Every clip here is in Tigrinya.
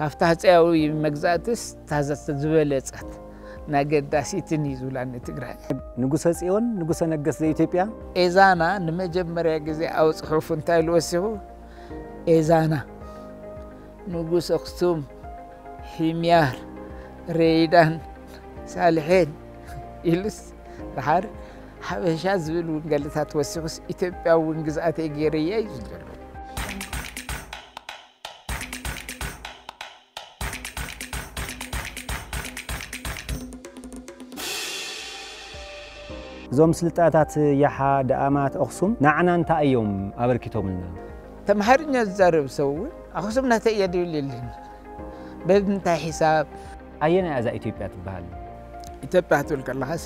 ኣብታ ሃፀያዊ መግዛእትስ ታዘት ዝበለጸት ናገዳሲትን እዩ ዝብላኒ ትግራይ። ንጉሰ ጽዮን ንጉሰ ነገስት ዘኢትዮጵያ ኤዛና ንመጀመርያ ግዜ ኣብ ጽሑፉ እንታይ ኢሉ ወሲኹ? ኤዛና ንጉስ ኣክሱም፣ ሒምያር፣ ሬይዳን፣ ሳልሔን ኢሉስ፣ ደሓር ሓበሻ ዝብል ውንገልታት ወሲኹስ፣ ኢትዮጵያ እውን ግዝኣተይ ገይረያ እዩ ዝደሎ። እዞም ስልጣታት ያሓ፣ ደኣማት፣ ኣኽሱም ንዓና እንታይ እዮም ኣበርኪቶምልና? ተምሃርኛ ዝዛረብ ሰብ እውን ኣኽሱም ናተይ እያ ድብል የለን። በምንታይ ሒሳብ? ኣየናይ እዛ ኢትዮጵያ ትበሃል? ኢትዮጵያ ክትብል ከለኻስ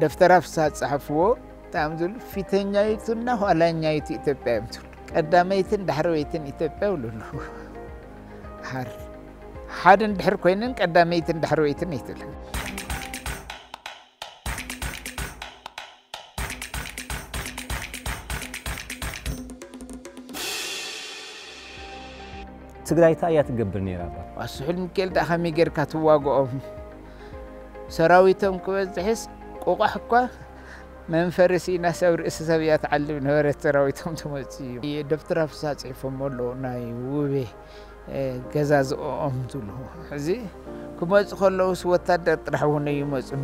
ደፍተራ ፍስሃ ዝጸሓፍዎ እንታይ እዮም ዝብሉ? ፊተኛይቱና ኋላኛይቱ ኢትዮጵያ እዮም ዝብሉ። ቀዳመይትን ዳሕረወይትን ኢትዮጵያ ይብሉ ኣለዉ። ሓር ሓደን ድሕር ኮይነን ቀዳመይትን ዳሕረወይትን ኣይትብልን። ትግራይ እንታይ እያ ትገብር ነይራ? ኣባ ስሑል ሚካኤል ደኣ ከመይ ጌርካ ትዋግኦም? ሰራዊቶም ክበዝሕስ ቁቋሕ እኳ መንፈሪ ሲኢናስ ኣብ ርእሲ ሰብ እያ ትዓልብ ነበረት። ሰራዊቶም ትመጽእ እዩ። ደብተራ ፍስሃ ጽሒፎም ኣለዉ ናይ ውቤ ገዛዝኦም ዝብሉ። ሕዚ ክመጹ ከለውስ ወታደር ጥራሕ እውን ኣይመጹን።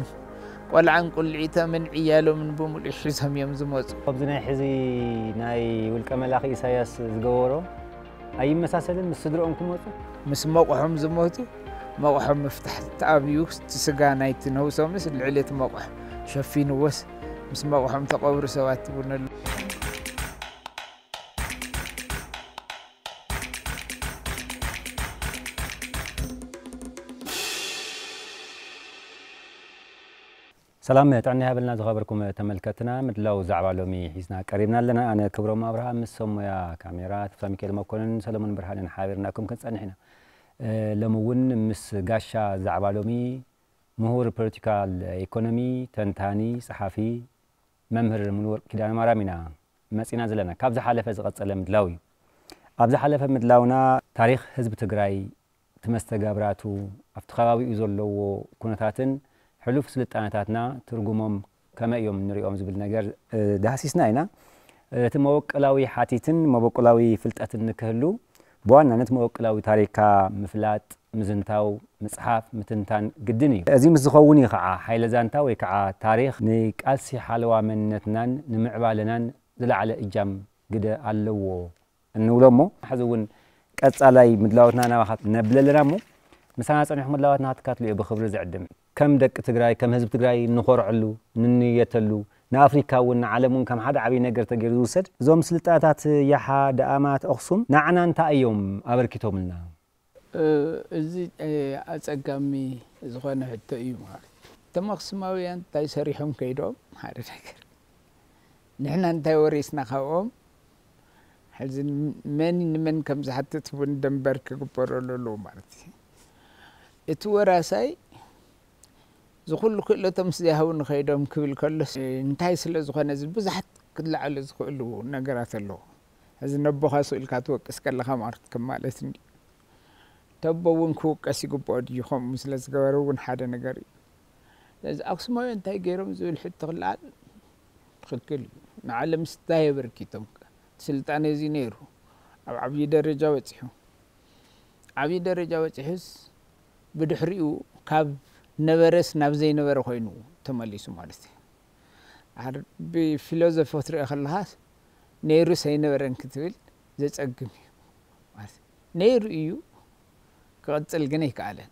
ቆልዓን ቁልዒቶምን ዕያሎምን ብምሉእ ሒዞም እዮም ዝመጹ። ኣብዚ ናይ ሕዚ ናይ ውልቀ መላኺ ኢሳያስ ዝገበሮ ኣይመሳሰልን ምስ ስድርኦም ክመጹ? ምስ መቑሖም ዝሞቱ መቑሖም ምፍታሕ ተኣብዩ፣ እቲ ስጋ ናይቲ ነብሶምስ ልዕሊ እቲ መቑሕ ሸፊንዎስ ምስ መቑሖም ተቐብሩ ሰባት ትብነሉ። ሰላም ጥዕና ይሃበልና ዝኸበርኩም ተመልከትና፣ ምድላው ዛዕባ ሎሚ ሒዝና ቀሪብና ኣለና። ኣነ ክብሮም ኣብርሃ ምስ ሰብ ሞያ ካሜራ ተስፋ ሚካኤል መኮንን ሰለሞን ብርሃንን ሓቢርናኩም ክንጸንሕ ኢና። እ፣ ሎሚ እውን ምስ ጋሻ ዛዕባ ሎሚ ምሁር ፖለቲካል ኢኮኖሚ፣ ተንታኒ፣ ጸሓፊ፣ መምህር ሙሉወርቅ ኪዳነ ማርያም ኢና መጺና ዘለና። ካብ ዝሓለፈ ዝቐጸለ ምድላው እዩ። ኣብ ዝሓለፈ ምድላውና ታሪኽ ህዝቢ ትግራይ፣ እቲ መስተጋብራቱ፣ ኣብቲ ከባቢኡ ዘለዎ ኩነታትን ሕሉፍ ስልጣነታትና ትርጉሞም ከመይ እዮም ንሪኦም ዝብል ነገር፣ እ፣ ዳህሲስና ኢና። እቲ መበቆላዊ ሓቲትን መበቆላዊ ፍልጠትን ንክህሉ ብዋናነት መበቆላዊ ታሪኽካ ምፍላጥ፣ ምዝንታው፣ ምጽሓፍ፣ ምትንታን ግድን እዩ። እዚ ምስ ዝኸውን እዩ ከዓ ሓይለ ዛንታ ወይ ከዓ ታሪኽ ንቃልሲ ሓለዋ መንነትናን ንምዕባለናን ዝለዓለ እጃም ግደ ኣለዎ እንብሎ እሞ፣ ሕዚ እውን ቀጻላይ ምድላዎትና ናባኻ ነብለልና እሞ፣ ምሳና ጸኒሑ ምድላዋትና ክትካትሉ እየ ብኽብሪ ዝዕድም። ከም ደቂ ትግራይ፣ ከም ህዝቢ ትግራይ እንኾርዐሉ፣ እንንየተሉ፣ ንኣፍሪካ እውን ንዓለም እውን ከም ሓደ ዓብዪ ነገር ተገይሩ ዝውሰድ፣ እዞም ስልጣታት ያሓ፣ ደኣማት፣ ኣኽሱም ንዓና እንታይ እዮም ኣበርኪቶምልና? እ፣ እዚ፣ እ፣ ኣጸጋሚ ዝኾነ ሕቶ እዩ ማለት እዩ። እቶም ኣኽሱማውያን እንታይ ሰሪሖም ከይዶም? ሓደ ነገር። ንሕና እንታይ ወሪስና ካብኦም? ሕዚ መን ንመን ከም ዝሓትት እውን ደንበር ክግበረሉ ኣለዎ ማለት እዩ። እቲ ወራሳይ ዝኹሉ ክእለቶም ምስ ዘይሃቡ ንኸይዶም ክብል ከሎስ፣ እንታይ ስለ ዝኾነ፣ እዚ ብዙሓት ክለዓሉ ዝኽእሉ ነገራት ኣለዉ። ሕዚ ነቦኻ ስኢልካ ትወቅስ ከለኻ ማለት ከም ማለት እንድዩ። ተቦ እውን ክውቀስ ይግብኦ ድዩ? ከምኡ ስለ ዝገበረ እውን ሓደ ነገር እዩ። ስለዚ ኣክሱማውያን እንታይ ገይሮም ዝብል ሕቶ ክለዓል ትኽክል እዩ። ንዓለምስ እንታይ ኣበርኪቶም? እቲ ስልጣነ እዚ ነይሩ፣ ኣብ ዓብዪ ደረጃ በፂሑ። ዓብዪ ደረጃ በፂሑስ ብድሕሪኡ ካብ ነበረስ ናብ ዘይነበረ ኮይኑ ተመሊሱ ማለት እዩ። ድሓር ብፊሎዞፊ ክትሪኦ ከለኻስ ነይሩስ ኣይነበረን ክትብል ዘጸግም እዩ። ማለት ነይሩ እዩ፣ ክቕጽል ግን ኣይከኣለን።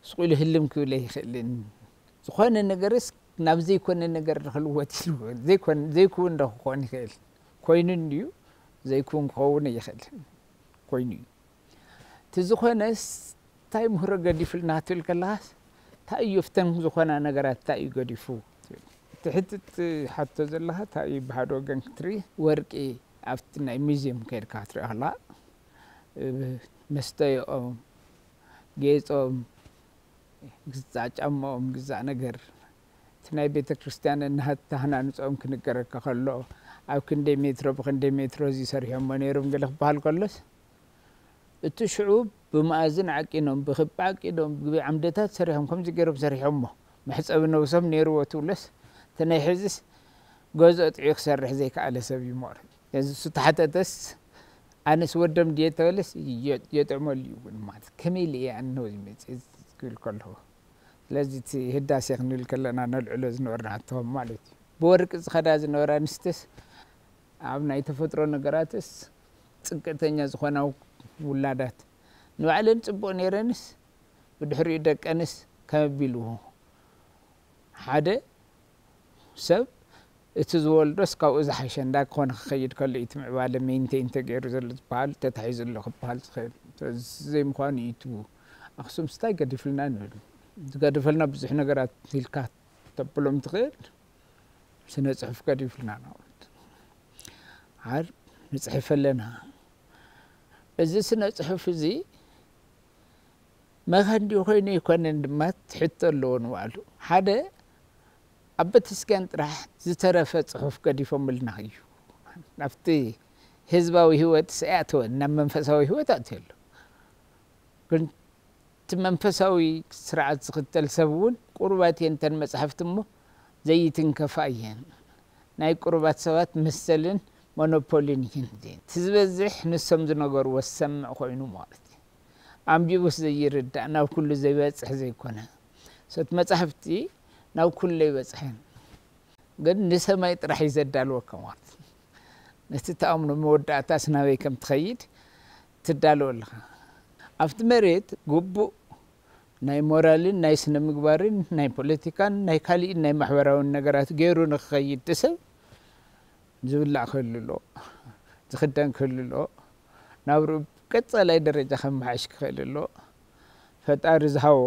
ስቕ ኢሉ ህልም ክብል ኣይኽእልን። ዝኾነ ነገርስ ናብ ዘይኮነ ነገር ክልወጥ ኢሉ ዘይኮን-፣ ዘይክውን ዶ ክኾን ይኽእል? ኮይኑ እንድዩ፣ ዘይክውን ክኸውን ኣይኽእልን። ኮይኑ እዩ። እቲ ዝኾነስ እንታይ ምህሮ ገዲፉልና ክትብል ከለኻስ፣ እንታይ እዩ ኣብተን ዝኾና ነገራት እንታይ እዩ ገዲፉ? እቲ ሕትት ሓቶ ዘለኻ እንታይ እዩ ብሓደ ወገን ክትርኢ፣ ወርቂ ኣብቲ ናይ ሙዚየም ከይድካ ክትርኢ ከለኻ፣ እ፣ መስተይኦም፣ ጌጾም፣ ግዛእ ጫማኦም፣ ግዛእ ነገር፣ እቲ ናይ ቤተ ክርስቲያን እናሃናንጾም ክንገረካ ከሎ፣ ኣብ ክንደይ ሜትሮ ብክንደይ ሜትሮ እዚ ሰሪሖሞ ነይሮም ገለ ክበሃል ከሎስ፣ እቲ ሽዑ ብመኣዝን ዓቂኖም፣ ብክቢ ዓቂኖም፣ ብዓምደታት ሰሪሖም፣ ከምዚ ገይሮም ሰሪሖሞ። መሕጸቢ ነብሶም ነይርዎ ትብሎስ፣ እቲ ናይ ሕዝስ ገዝኦ ጥዑይ ክሰርሕ ዘይከኣለ ሰብ እዩ ሞር። እዚ እሱ ተሓተተስ፣ ኣነስ ወዶም ድየ ተበለስ፣ የ-፣ የጥዕመሉ እዩ እውን ማለት። ከመይ ኢለ እየ ኣነ ነዚ መጽእ ክብል ከለኹ። ስለዚ እቲ ህዳሴ ክንብል ከለና ነልዕሎ ዝነበርና ሕቶ ማለት እዩ። ብወርቂ ዝኸዳ ዝነበራ ኣንስትስ፣ ኣብ ናይ ተፈጥሮ ነገራትስ ጽግዕተኛ ዝኾና ውላዳት ንባዕለን ጽቡቕ ነይረንስ፣ ብድሕሪኡ ደቀንስ ከመይ ኣቢሉ ሓደ ሰብ እቲ ዝወልዶስ ካብኡ ዝሓሸ እንዳ ክኾነ ክኸይድ ከሎ እዩ እቲ ምዕባለ ሜንቴን ተገይሩ ዘሎ ዝበሃል፣ ተታሒዙ ኣሎ ክበሃል ዝኽእል። ዘይምዃኑ እዩ እቲ ኣኽሱምስ እንታይ ገዲፍልና ንብል። ዝገደፈልና ብዙሕ ነገራት ኢልካ ተብሎም ትኽእል። ስነ ጽሑፍ ገዲፍልና ንኣብነት። ዓር ንጽሕፍ ኣለና። እዚ ስነ ጽሑፍ እዚ መኸንዲ ኮይኑ ኣይኮነን ድማ ትሕቶ ኣለዎ ንባዕሉ። ሓደ ኣብ ቤተክርስትያን ጥራሕ ዝተረፈ ጽሑፍ ገዲፎምልና እዩ። ናብቲ ህዝባዊ ህይወት ኣይኣተወን፣ ናብ መንፈሳዊ ህይወት ኣትዩ ኣሎ። ግን እቲ መንፈሳዊ ስርዓት ዝኽተል ሰብ እውን ቁሩባት እየን እተን መጻሕፍቲ እሞ ዘይትንከፋ እየን። ናይ ቁሩባት ሰባት መሰልን ሞኖፖሊን እየን እዚአን። እቲ ዝበዝሕ ንሶም ዝነገርዎ ዝሰምዕ ኮይኑ ማለት እዩ። ኣንቢቡስ ዘይርዳእ፣ ናብ ኩሉ ዘይበጽሕ ዘይኮነ። ሰት መጻሕፍቲ ናብ ኩሉ ኣይበጽሐን። ግን ንሰማይ ጥራሕ እዩ ዘዳልወካ ማለት እዩ። ነቲ ትኣምኖ መወዳእታስ ናበይ ከም ትኸይድ ትዳሎ ኣለኻ። ኣብቲ መሬት ግቡእ ናይ ሞራልን ናይ ስነ ምግባርን ናይ ፖለቲካን ናይ ካሊእን ናይ ማሕበራውን ነገራት ገይሩ ንክኸይድ እቲ ሰብ ዝብላዕ ክህሉ ኣለዎ፣ ዝኽደን ክህሉ ኣለዎ፣ ናብርኡ ቀጻላይ ደረጃ ከመሓይሽ ክኽእል ኣለዎ፣ ፈጣሪ ዝሃቦ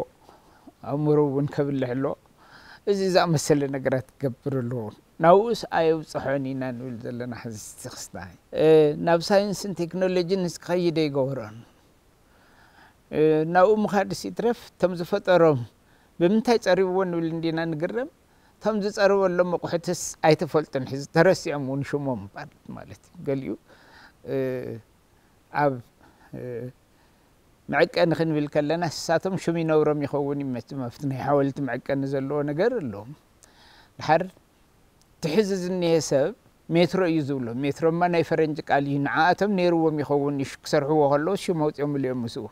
ኣእምሮ እውን ከብልሕ ኣለዎ። እዚ ዝኣመሰለ ነገራት ክገብር ኣለዎ። ናብኡስ ኣየብጽሖን ኢና ንብል ዘለና ሕዚ ክስታይ። እ፣ ናብ ሳይንስን ቴክኖሎጂን ክኸይድ ኣይገበሮን። እ፣ ናብኡ ምኻድስ ይትረፍ፣ እቶም ዝፈጠሮም ብምንታይ ጸሪብዎ ንብል እንዲና ንግረም። እቶም ዝጸርበሎም ኣቑሑትስ ኣይተፈልጡን፣ ሕዚ ተረሲዖም እውን ሽሞም ማለት፣ ማለት እዩ። ገሊኡ፣ እ፣ ኣብ፣ እ፣ መዐቀኒ ክንብል ከለና፣ ንሳቶም ሽም ይነብሮም ይኸውን እዩ መቸም፣ ኣብቲ ናይ ሓወልቲ መዐቀኒ ዘለዎ ነገር ኣለዎም። ድሓር እቲ ሕዚ ዝኒሀ ሰብ ሜትሮ እዩ ዝብሎ። ሜትሮማ ናይ ፈረንጂ ቃል እዩ። ንዓኣቶም ነይርዎም ይኸውን እዩ፣ ክሰርሕዎ ከለዉ ሽም ኣውፂኦምሉ እዮም ምስኡ።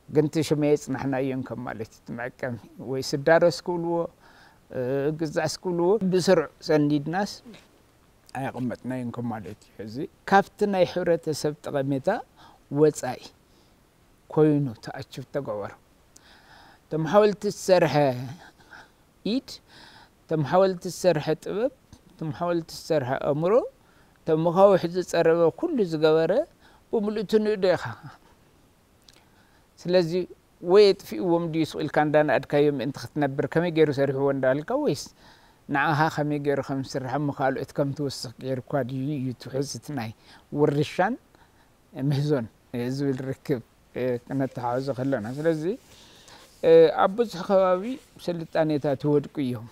ግን እቲ ሽም ኣየፅናሕናዮን ከም ማለት እዩ። እቲ መዐቀኒ ወይ ስዳረስ ክብልዎ፣ እ፣ ግዛዕስ ክብልዎ፣ ብስሩዕ ሰኒድናስ ኣየቐመጥናዮን ከም ማለት እዩ። ሕዚ ካብቲ ናይ ሕብረተሰብ ጠቐሜታ ወፃኢ ኮይኑ ተኣችብ ተገበሩ። እቶም ሓወልቲ ዝሰርሐ ኢድ፣ እቶም ሓወልቲ ዝሰርሐ ጥበብ፣ እቶም ሓወልቲ ዝሰርሐ ኣእምሮ፣ እቶም መኻውሕ ዝፀረበ ኩሉ ዝገበረ ብምልእቱ ንእዶ ኢኻ። ስለዚ ወይ የጥፊእዎም ድዩ ስቕ ኢልካ እንዳናእድካዮ ምእንቲ ክትነብር ከመይ ገይሩ ሰሪሕዎ እንዳልካ ወይስ ንዓኻ ከመይ ገይሩ ከም ዝስራሕ እሞ ካልኦት ከም ትውስኽ ገይርኳ ድዩ እዩ ትውሕዝ እቲ ናይ ውርሻን ምህዞን ዝብል ርክብ፣ እ፣ ክነተሓሕዞ ከለና። ስለዚ፣ እ፣ ኣብ ብዙሕ ከባቢ ስልጣኔታት ይወድቁ እዮም።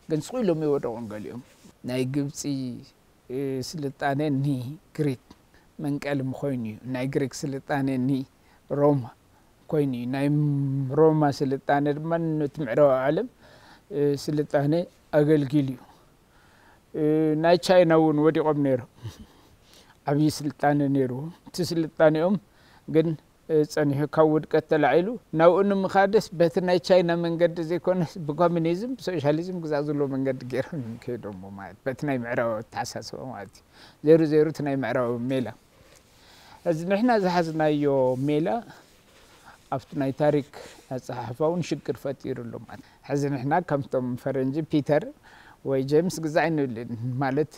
ግን ስቕ ኢሎም ይወደቑን ገሊኦም። ናይ ግብፂ፣ እ፣ ስልጣኔ ንግሪክ መንቀሊ ኮይኑ እዩ። ናይ ግሪክ ስልጣኔ ንሮማ ኮይኑ እዩ። ናይ ሮማ ስልጣኔ ድማ ነቲ ምዕራባዊ ዓለም፣ እ፣ ስልጣኔ ኣገልጊሉ እዩ። እ፣ ናይ ቻይና እውን ወዲቖም ነይሮም። ዓብዪ ስልጣኔ ነይርዎም። እቲ ስልጣኔኦም ግን፣ እ፣ ጸኒሑ ካብ ውድቀት ተላዒሉ ናብኡ ንምኻድስ በቲ ናይ ቻይና መንገዲ ዘይኮነስ ብኮሚኒዝም፣ ብሶሻሊዝም ግዛእ ዝብሎ መንገዲ ገይሮም እዮም ከይዶሞ ማለት በቲ ናይ ምዕራባዊ ኣተሓሳስባ ማለት እዩ። ዜሩ ዜሩ እቲ ናይ ምዕራባዊ ሜላ። እዚ ንሕና ዝሓዝናዮ ሜላ ኣብቲ ናይ ታሪክ ኣጸሓሕፋ እውን ሽግር ፈጢሩ ኣሎ ማለት። ሕዚ ንሕና ከምቶም ፈረንጂ ፒተር ወይ ጄምስ ግዛዕ ኣይንብልን ማለት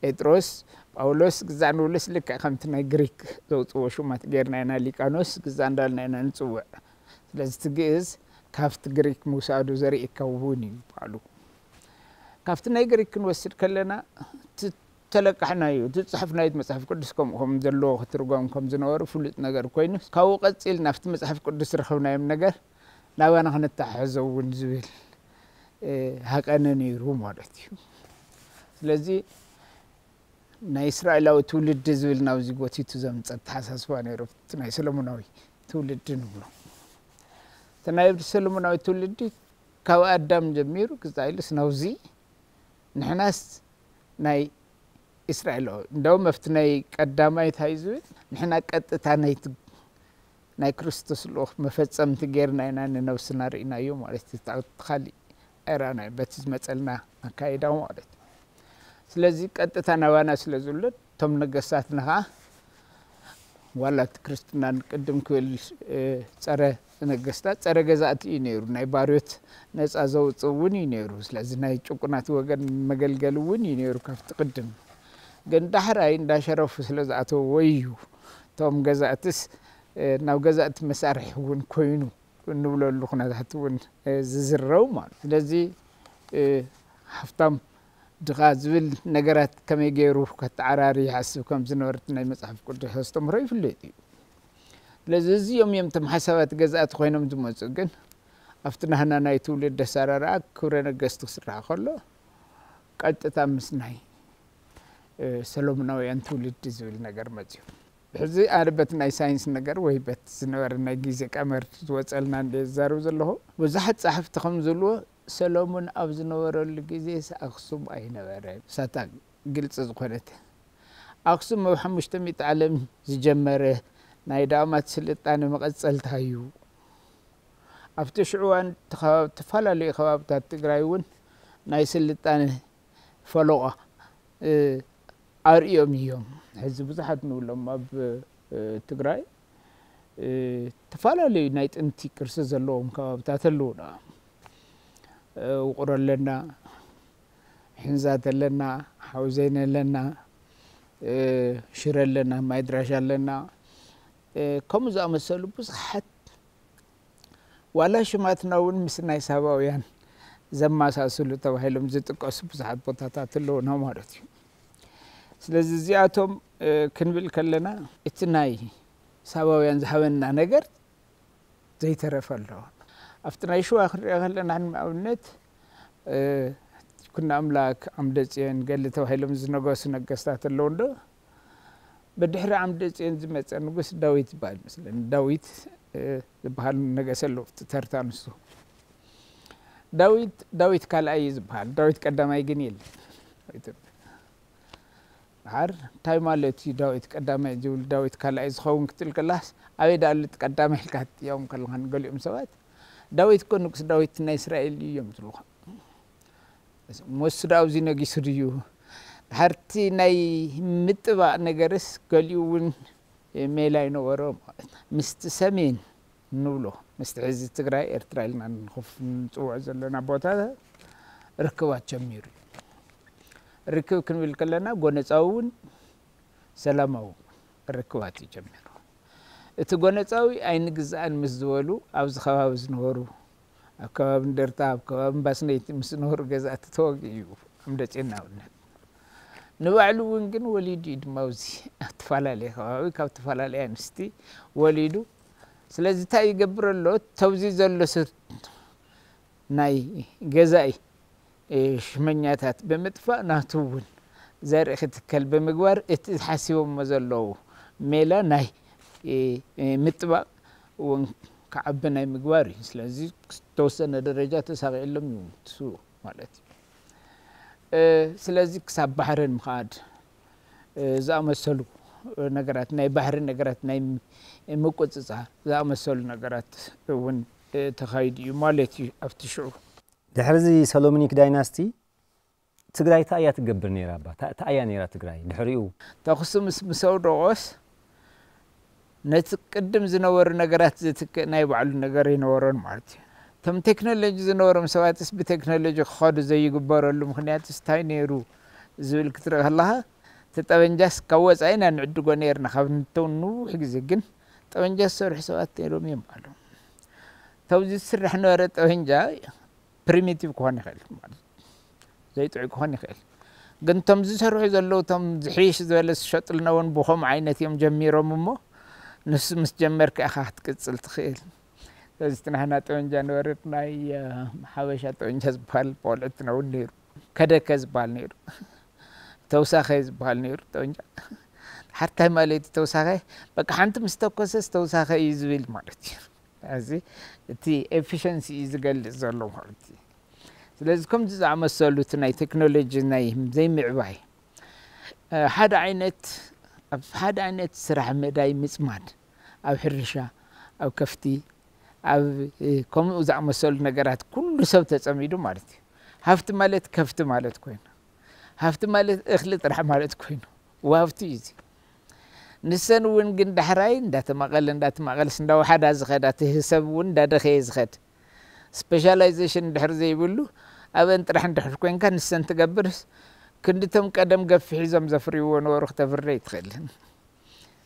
ጴጥሮስ፣ ጳውሎስ ግዛዕ ንብሎስ ልክዕ ከምቲ ናይ ግሪክ ዘውጽዎ ሹማት ጌርና ኢና ሊቃኖስ ግዛዕ እንዳልና ኢና ንጽውዕ። ስለዚ እቲ ግእዝ ካብቲ ግሪክ ምውሳዱ ዘርእየካ እውን እዩ በዓሉ። ካብቲ ናይ ግሪክ ክንወስድ ከለና እቲ ተለቃሕናዮ፣ እቲ ዝጸሓፍናዮ መጽሓፍ ቅዱስ ከምኡ ከም ዘለዎ ክትርጎም ከም ዝነበሩ ፍሉጥ ነገር ኮይኑ፣ ካብኡ ቀጺልና ኣብቲ መጽሓፍ ቅዱስ ዝረኸብናዮም ነገር ናባና ክነተሓሕዞ እውን ዝብል፣ እ፣ ሃቀነ ነይሩ ማለት እዩ። ስለዚ ናይ እስራኤላዊ ትውልዲ ዝብል ናብዚ ጎቲቱ ዘምፀ ኣተሓሳስባ ነይሩ። እቲ ናይ ሰሎሞናዊ ትውልዲ ንብሎ፣ እቲ ናይ ሰሎሞናዊ ትውልዲ ካብ ኣዳም ጀሚሩ ክሳብ ኢሉስ ናብዚ፣ ንሕናስ ናይ እስራኤላዊ፣ እንደውም ኣብቲ ናይ ቀዳማይ እንታይ ዝብል፣ ንሕና ቀጥታ ናይቲ ናይ ክርስቶስ ልኡኽ መፈጸምቲ ጌርና ኢና ንነብስና ርኢናዮ ማለት እዩ። እቲ ካልእ ኣይረኣናዮ በቲ ዝመጸልና ኣካይዳ ማለት እዩ። ስለዚ ቀጥታ ናባና ስለ ዝውለድ እቶም ነገስታትና ኸዓ ዋላ እቲ ክርስትናን ቅድም ክብል ጸረ ነገስታት ጸረ ገዛእቲ እዩ ነይሩ። ናይ ባርዮት ነፃ ዘውፅእ እውን እዩ ነይሩ። ስለዚ ናይ ጭቁናት ወገን መገልገሊ እውን እዩ ነይሩ ካብቲ ቅድም። ግን ዳሕራይ እንዳሸረፉ ስለ ዝኣተውዎ እዩ እቶም ገዛእትስ ናብ ገዛእቲ መሳርሒ እውን ኮይኑ እንብለሉ ኩነታት እውን ዝዝረው ማለት። ስለዚ ሃፍታም ድኻ ዝብል ነገራት ከመይ ገይሩ ከተዓራሪ ይሓስብ ከም ዝነበረ ናይ መጽሓፍ ቅዱስ ኣስተምህሮ ይፍለጥ እዩ። ስለዚ እዚኦም እዮም እቶም ሓሳባት ገዛእቲ ኮይኖም ዝመፁ። ግን ኣብቲ ናህና ናይ ትውልድ ኣሰራርኣ ክብረ ነገስቲ ክስራሕ ከሎ ቀጥታ ምስ ናይ ሰሎሞናውያን ትውልዲ ዝብል ነገር መፅዩ። ብሕዚ ኣነ በቲ ናይ ሳይንስ ነገር ወይ በቲ ዝነበረ ናይ ግዜ ቀመር ዝወፀልና እንደ ዝዛረብ ዘለኹ ብዙሓት ጸሓፍቲ ከም ዝብልዎ ሰሎሞን ኣብ ዝነበረሉ ግዜስ ኣኽሱም ኣይነበረ። ሳታ ግልፂ ዝኾነት ኣኽሱም ኣብ ሓሙሽተ ሚእቲ ዓለም ዝጀመረ ናይ ዳእማት ስልጣነ መቐፀልታ እዩ። ኣብቲ ሽዑ እዋን ተፈላለዩ ከባብታት ትግራይ እውን ናይ ስልጣነ ፈለቋ ኣርእዮም እዮም። ሕዚ ብዙሓት ንብሎም ኣብ ትግራይ ተፈላለዩ ናይ ጥንቲ ቅርሲ ዘለዎም ከባብታት ኣለዉ። ውቕሮ ኣለና፣ ሕንዛት ኣለና፣ ሓውዜን ኣለና፣ ሽረ ኣለና፣ ማይድራሽ ኣለና፣ ከምኡ ዝኣመሰሉ ብዙሓት ዋላ ሽማትና እውን ምስ ናይ ሳባውያን ዘመሳስሉ ተባሂሎም ዝጥቀሱ ብዙሓት ቦታታት ኣለዉና ማለት እዩ። ስለዚ እዚኣቶም ክንብል ከለና እቲ ናይ ሳባውያን ዝሃበና ነገር ዘይተረፈ ኣሎ። ኣብቲ ናይ ሽዋ ክንሪኦ ከለና ንኣብነት ኩና ኣምላክ፣ ዓምደ ጽዮን፣ ገሊ ተባሂሎም ዝነገሱ ነገስታት ኣለዉ እንዶ ብድሕሪ ዓምደ ጽዮን ዝመጸ ንጉስ ዳዊት ይበሃል መስለኒ። ዳዊት ዝበሃል ነገሰ ኣሎ ኣብቲ ተርታ ንሱ። ዳዊት ዳዊት ካልኣይ እዩ ዝበሃል። ዳዊት ቀዳማይ ግን የለን ኣብ ኢትዮጵያ። ድሓር እንታይ ማለት እዩ ዳዊት ቀዳማይ ዝብል ዳዊት ካልኣይ ዝኸውን ክትብል ከላስ ኣበይ ዳሉ እቲ ቀዳማይ ኢልካ ትጥየቆም ከለኻ ንገሊኦም ሰባት ዳዊት እኮ ንጉስ ዳዊት ናይ እስራኤል እዩ እዮም ዝብሉኻ። ሞሱ ዳ ኣብዚ ነጊሱ ድዩ? ድሓርቲ ናይ ምጥባቕ ነገርስ ገሊኡ እውን ሜላ ይነበሮ ማለት ምስቲ ሰሜን ንብሎ ምስቲ ሕዚ ትግራይ ኤርትራ ኢልና ንኸፍ ንፅውዖ ዘለና ቦታ ርክባት ጀሚሩ እዩ። ርክብ ክንብል ከለና ጎነፃዊ እውን ሰላማዊ ርክባት እዩ ጀሚሩ። እቲ ጎነፃዊ ኣይንግዛእን ምስ ዝበሉ ኣብዚ ከባቢ ዝነበሩ ኣብ ከባቢ እንደርታ ኣብ ከባቢ እምባስነይቲ ምስ ዝነበሩ ገዛእቲ ተወጊኡ እዩ ኣምደፅዮን ንኣብነት። ንባዕሉ እውን ግን ወሊዱ እዩ ድማ ኣብዚ ኣብ ተፈላለየ ከባቢ ካብ ተፈላለየ ኣንስቲ ወሊዱ። ስለዚ እንታይ ይገብር ኣሎ? ተብዚ ዘሎ ሰብ ናይ ገዛኢ ሽመኛታት ብምጥፋእ ናቱ እውን ዘርኢ ክትከል ብምግባር እቲ ሓሲቦሞ ዘለዉ ሜላ ናይ ምጥባቕ እውን ክዓቢ ናይ ምግባር እዩ። ስለዚ ዝተወሰነ ደረጃ ተሳቒዕሎም እዩ ንሱ ማለት እዩ። ስለዚ ክሳብ ባሕርን ምኻድ ዝኣመሰሉ ነገራት ናይ ባሕሪ ነገራት ናይ ምቁፅፃር ዝኣመሰሉ ነገራት እውን ተኻይዱ እዩ ማለት እዩ ኣብቲ ሽዑ። ድሕሪ እዚ ሰሎሚኒክ ዳይናስቲ ትግራይ እንታይ እያ ትገብር ነይራ? እባ እንታይ እያ ነይራ ትግራይ ድሕሪኡ? ተኹሲ ምስ ምስ ኣውደቖስ ነቲ ቅድም ዝነበሩ ነገራት ዝትክእ ናይ ባዕሉ ነገር ኣይነበሮን ማለት እዩ። እቶም ቴክኖሎጂ ዝነበሮም ሰባትስ ብቴክኖሎጂ ክኸዱ ዘይግበረሉ ምኽንያትስ እንታይ ነይሩ ዝብል ክትርኢ ከለኻ እቲ ጠበንጃስ ካብ ወፃኢ ኢና ንዕድጎ ነይርና ካብ ንተው ንውሕ ግዜ ግን ጠበንጃ ዝሰርሑ ሰባት ነይሮም እዮም በሃሎም። ተብዚ ዝስራሕ ነበረ ጠበንጃ ፕሪሚቲቭ ክኾን ይኽእል ማለት እዩ። ዘይጥዑይ ክኾን ይኽእል። ግን እቶም ዝሰርሑ ዘለዉ እቶም ዝሕይሽ ዝበለ ዝሸጥልና እውን ብኸምኡ ዓይነት እዮም ጀሚሮም እሞ ንሱ ምስ ጀመርካ ኢኻ ክትቅፅል ትኽእል። ስለዚ እቲ ናህና ጠበንጃ ነበረት ናይ ሓበሻ ጠበንጃ ዝበሃል ቆልዕትና እውን ነይሩ። ከደከ ዝበሃል ነይሩ። እቲ ተውሳኸ ዝበሃል ነይሩ ጠበንጃ። ሓርታይ ማለት እዩ ተውሳኸ፣ በቃ ሓንቲ ምስ ተኮሰስ ተውሳኸ እዩ ዝብል ማለት እዩ። እዚ እቲ ኤፊሸንሲ እዩ ዝገልጽ ዘሎ ማለት እዩ። ስለዚ ከምዚ ዝኣመሰሉ እቲ ናይ ቴክኖሎጂ ናይ ዘይምዕባይ፣ እ፣ ሓደ ዓይነት፣ ኣብ ሓደ ዓይነት ስራሕ መዳይ ምጽማድ፣ ኣብ ሕርሻ፣ ኣብ ከፍቲ፣ ኣብ፣ እ፣ ከምኡ ዝኣመሰሉ ነገራት ኩሉ ሰብ ተጸሚዱ ማለት እዩ። ሃፍቲ ማለት ከፍቲ ማለት ኮይኑ፣ ሃፍቲ ማለት እኽሊ ጥራሕ ማለት ኮይኑ፣ ወሃብቲ እዩ እዚ። ንሰን እውን ግን ዳሕራይ እንዳተማቐለ እንዳተማቐለስ እንዳወሓዳ ዝኸዳ፣ እቲ ሰብ እውን እንዳደኸየ ዝኸድ፣ ስፔሻላይዜሽን እንድሕር ዘይብሉ፣ ኣብአን ጥራሕ እንድሕር ኮንካ ንሰን ትገብርስ፣ ክንድቶም ቀደም ገፊ ሒዞም ዘፍርይዎ ነበሩ ክተፍሪ ኣይትኽእልን።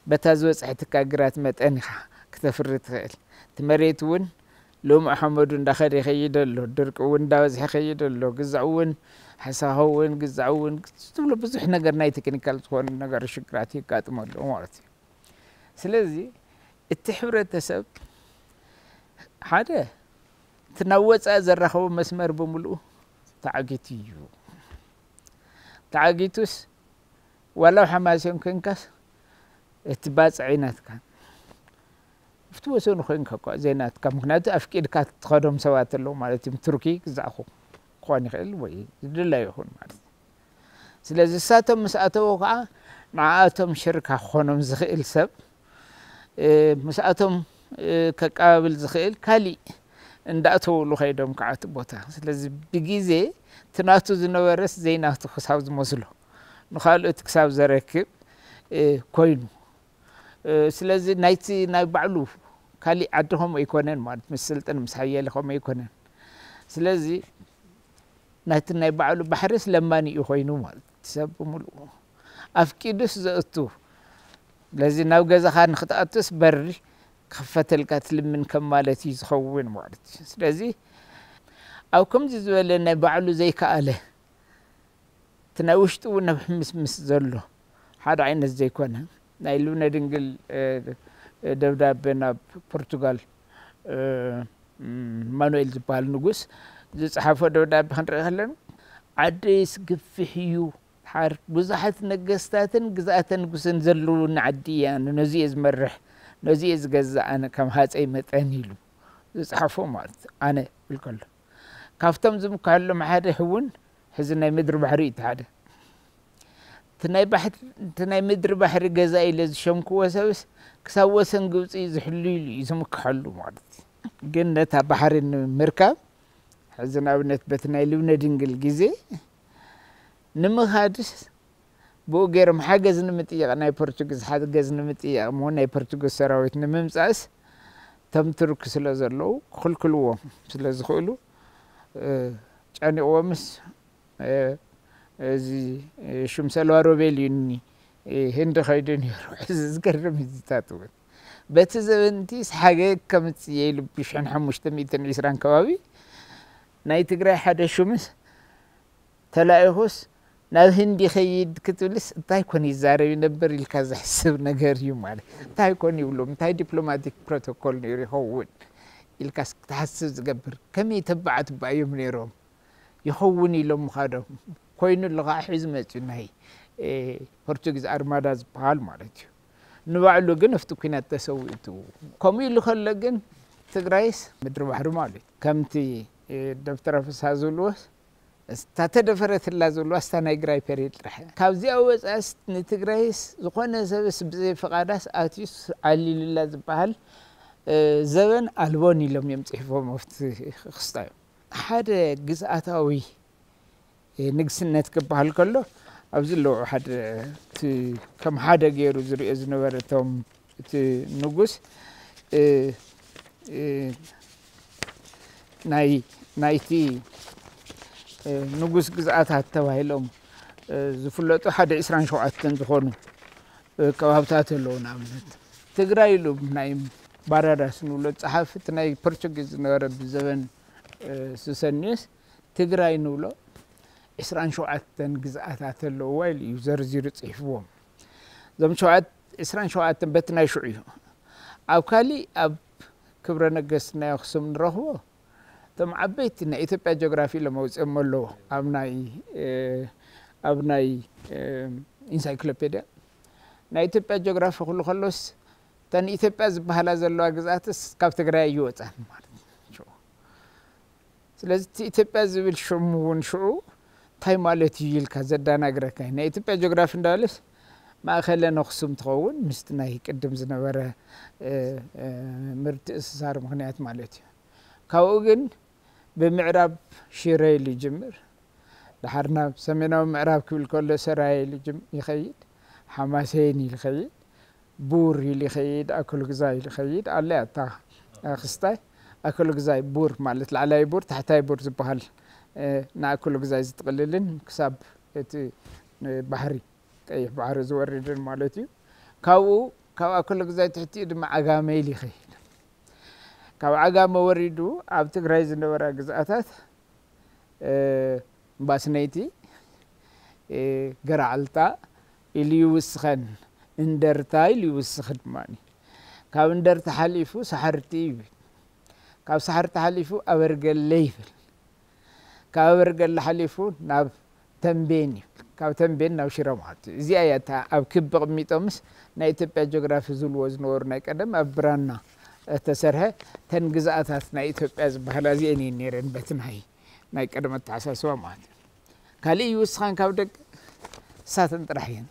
በታ ዝበጽሐትካ ግራት መጠን ኢኻ ክተፍሪ ትኽእል። እቲ መሬት እውን ልሙዕ ሓመዱ እንዳኸደ ይኸይድ ኣሎ፣ ድርቂ እውን እንዳበዝሐ ይኸይድ ኣሎ፣ ግዛዕ እውን፣ ሓሳኻ እውን፣ ግዛዕ እውን ትብሎ ብዙሕ ነገር ናይ ቴክኒካል ዝኾኑ ነገር ሽግራት የጋጥሞ ኣለዎ ማለት እዩ። ስለዚ እቲ ሕብረተሰብ ሓደ እቲ ናብ ወፃኢ ዘራኸቦ መስመር ብምልኡ ተዓጊቱ እዩ። ተዓጊቱስ ዋላ ኣብ ሓማሴን ኮንካስ እቲ ባፅዕ ናትካ ኣብቲ ወሰኑ ኮይንካ እኳ ዘይናትካ፣ ምክንያቱ ኣፍቂድካ ትኸዶም ሰባት ኣለዉ ማለት እዩ። ቱርኪ ግዛእኹ ክኾን ይኽእል ወይ ዝድለዩ ይኹን ማለት እዩ። ስለዚ እሳቶም ምስ ኣተዉ ከዓ ንዓኣቶም ሽርካ ክኾኖም ዝኽእል ሰብ፣ እ፣ ምስኣቶም፣ እ፣ ከቀባብል ዝኽእል ካሊእ እንዳእተውሉ ከይዶም ከዓ እቲ ቦታ። ስለዚ ብግዜ እቲ ናቱ ዝነበረስ ዘይናቱ ክሳብ ዝመስሎ፣ ንኻልኦት ክሳብ ዘረክብ፣ እ፣ ኮይኑ። እ፣ ስለዚ ናይቲ ናይ ባዕሉ ካሊእ ዓዲ ከምኡ ኣይኮነን ማለት፣ ምስ ስልጥን ምስ ሓየለ ከምኡ ኣይኮነን። ስለዚ ናይቲ ናይ ባዕሉ ባሕርስ ለማኒ እዩ ኮይኑ ማለት፣ ሰብ ብምልኡ ኣፍቂዱስ ዘእቱ። ስለዚ ናብ ገዛኻ ንክትኣቱስ በሪ ክኽፈተልካ ትልምን ከም ማለት እዩ ዝኸውን ማለት እዩ። ስለዚ ኣብ ከምዚ ዝበለ ናይ ባዕሉ ዘይከኣለ፣ እቲ ናይ ውሽጡ እውን ኣብ ሕምስምስ ዘሎ ሓደ ዓይነት ዘይኮነ፣ ናይ ልብነ ድንግል፣ እ፣ ደብዳበ ናብ ፖርቱጋል፣ እ፣ ማኑኤል ዝበሃል ንጉስ ዝጸሓፎ ደብዳበ ክንርኢ ከለና፣ ዓደይስ ግፍሕ እዩ፣ ድሓር ብዙሓት ነገስታትን ግዝኣተ ንጉስን ዘለውኒ ዓዲ እያ፣ ነዚ እየ ዝመርሕ፣ ነዚ እየ ዝገዝእ ኣነ ከም ሃጸይ መጠን ኢሉ ዝጸሓፎ ማለት ኣነ ይብል ከሎ፣ ካብቶም ዝምክሐሎም ሓደ እውን ሕዚ ናይ ምድሪ ባሕሪ እዩ እቲ ሓደ። እቲ ናይ ባሕሪ፣ እቲ ናይ ምድሪ ባሕሪ ገዛ ኢለ ዝሸምክዎ ሰብስ ክሳብ ወሰን ግብፂ ዝሕሉ ኢሉ እዩ ዝምክሐሉ ማለት እዩ። ግን ነታ ባሕሪ ንምርካብ ሕዚ ንኣብነት በቲ ናይ ልብነ ድንግል ግዜ ንምኻድስ ብኡ ገይሮም ሓገዝ ንምጥያቕ፣ ናይ ፖርቹጊዝ ሓገዝ ንምጥያቕ እሞ ናይ ፖርቹጊዝ ሰራዊት ንምምፃእስ እቶም ቱርክ ስለ ዘለዉ ክኽልክልዎም ስለ ዝኽእሉ፣ እ፣ ጨኒቕዎምስ፣ እ፣ እዚ፣ እ፣ ሹም ሰልዋ ሮቤል እዩ እኒ፣ እ፣ ህንዲ ከይዱ ነይሩ። እዚ ዝገርም ህዝታት እውን በቲ ዘበንቲ ሓገግ ከምፅእ ኢሉ ብሽሕን ሓሙሽተ ሚእትን ዕስራን ከባቢ ናይ ትግራይ ሓደ ሹምስ ተላኢኹስ ናብ ህንዲ ይኸይድ ክትብልስ እንታይ ኮን ይዛረብ ይነበር ኢልካ ዘሕስብ ነገር እዩ ማለት። እንታይ ኮን ይብሎም፣ እንታይ ዲፕሎማቲክ ፕሮቶኮል ነይሩ ይኸውን ኢልካስ ክትሓስብ ዝገብር። ከመይ ተባዓት ባዮም ነይሮም ይኸውን ኢሎም ምኻዶም። ኮይኑ ኣሎ ከዓ ሒዙ መፅዩ ናይ፣ እ፣ ፖርቱጊዝ ኣርማዳ ዝበሃል ማለት እዩ። ንባዕሉ ግን ኣብቲ ኲናት ተሰዊኡ። ከምኡ ኢሉ ከሎ ግን ትግራይስ ምድሪ ባሕሪ ማለት እዩ። ከምቲ፣ እ፣ ዶክተር ፍስሃ ዝብልዎ እታ ተደፈረትላ ዘለዋ እስታ ናይ ግራይ ፔሪድ ጥራሕ እያ። ካብዚኣ ወፃእስ ንትግራይስ ዝኾነ ሰብስ ብዘይ ፍቓዳስ ኣትዩስ ዓሊሉላ ዝበሃል፣ እ፣ ዘበን ኣልቦን ኢሎም እዮም ፅሒፎም ኣብቲ ክስታ እዮም። ሓደ ግዝኣታዊ፣ እ፣ ንግስነት ክበሃል ከሎ ኣብዚ ኣለዉ ሓደ እቲ ከም ሓደ ገይሩ ዝሪኦ ዝነበረ እቶም እቲ ንጉስ፣ እ፣ እ፣ ናይ፣ ናይቲ፣ እ፣ ንጉስ ግዝኣታት ተባሂሎም፣ እ፣ ዝፍለጡ ሓደ ዕስራን ሸውዓተን ዝኾኑ፣ እ፣ ከባብታት ኣለዉ። ንኣብነት ትግራይ ኢሉ ናይ ባራዳስ ንብሎ ጸሓፊ እቲ ናይ ፖርቹጊዝ ዝነበረ ብዘበን፣ እ፣ ሱሰንዮስ ትግራይ ንብሎ ዕስራን ሸውዓተን ግዝኣታት ኣለውዋ ኢሉ እዩ ዘርዚሩ ጽሒፍዎም። እዞም ሸውዓት-፣ ዕስራን ሸውዓተን በቲ ናይ ሽዑ እዩ። ኣብ ካሊእ ኣብ ክብረ ነገስት ናይ ኣኽሱም ንረኽቦ እቶም ዓበይቲ ናይ ኢትዮጵያ ጂኦግራፊ ኢሎም ኣውፅኦም ኣለዉ። ኣብ ናይ፣ እ፣ ኣብ ናይ ኢንሳይክሎፔድያ ናይ ኢትዮጵያ ጂኦግራፊ ክብሉ ከሎስ፣ እተን ኢትዮጵያ ዝበሃላ ዘለዋ ግዝኣትስ ካብ ትግራይ ኣይወፃን ማለት እዩ። ስለዚ እቲ ኢትዮጵያ ዝብል ሽሙ እውን ሽዑ እንታይ ማለት እዩ ኢልካ ዘዳናግረካ እዩ። ናይ ኢትዮጵያ ጂኦግራፊ እንዳበለስ ማእኸለን ኣኽሱም ትኸውን፣ ምስቲ ናይ ቅድም ዝነበረ ምትእስሳር ምኽንያት ማለት እዩ። ካብኡ ግን ብምዕራብ ሽረ ኢሉ ይጅምር። ድሓር ናብ ሰሜናዊ ምዕራብ ክብል ከሎ ሰራየ ኢሉ ይኸይድ፣ ሓማሴን ኢሉ ይኸይድ፣ ቡር ኢሉ ይኸይድ፣ ኣክሎግዛይ ኢሉ ይኸይድ። ኣለ ኣታ ክስታይ ኣክሎግዛይ ቡር ማለት ላዕላይ ቡር ታሕታይ ቡር ዝበሃል ንኣክሎግዛይ ዝጥቕልልን ክሳብ እቲ ባሕሪ ቀይሕ ባሕሪ ዝወርድን ማለት እዩ። ካብኡ ካብ ኣክሎግዛይ ትሕቲኡ ድማ ዓጋመ ኢሉ ይኸይድ። ካብ ዓጋመ ወሪዱ ኣብ ትግራይ ዝነበራ ግዝኣታት ባስነይቲ፣ ገራዓልታ ኢሉ ይውስኸን፣ እንደርታ ኢሉ ይውስኽ ድማ። ካብ እንደርታ ሓሊፉ ሳሕርቲ ይብል። ካብ ሳሕርቲ ሓሊፉ ኣበርገለ ይብል። ካብ ኣበርገለ ሓሊፉ ናብ ተንቤን ይብል። ካብ ተንቤን ናብ ሽረ ማለት እዩ። እዚኣ እያ እታ ኣብ ክቢ ቅሚጦምስ ናይ ኢትዮጵያ ጂኦግራፊ ዝብልዎ ዝነበሩ ናይ ቀደም ኣብ ብራና እተሰርሐ ተን ግዝኣታት ናይ ኢትዮጵያ ዝበሃላ እዚአን እየን ነይረን በቲ ናይ ናይ ቀደም ኣተሓሳስባ ማለት እዩ። ካልእ ይውስኻን ካብ ደቂ እሳተን ጥራሕ እየን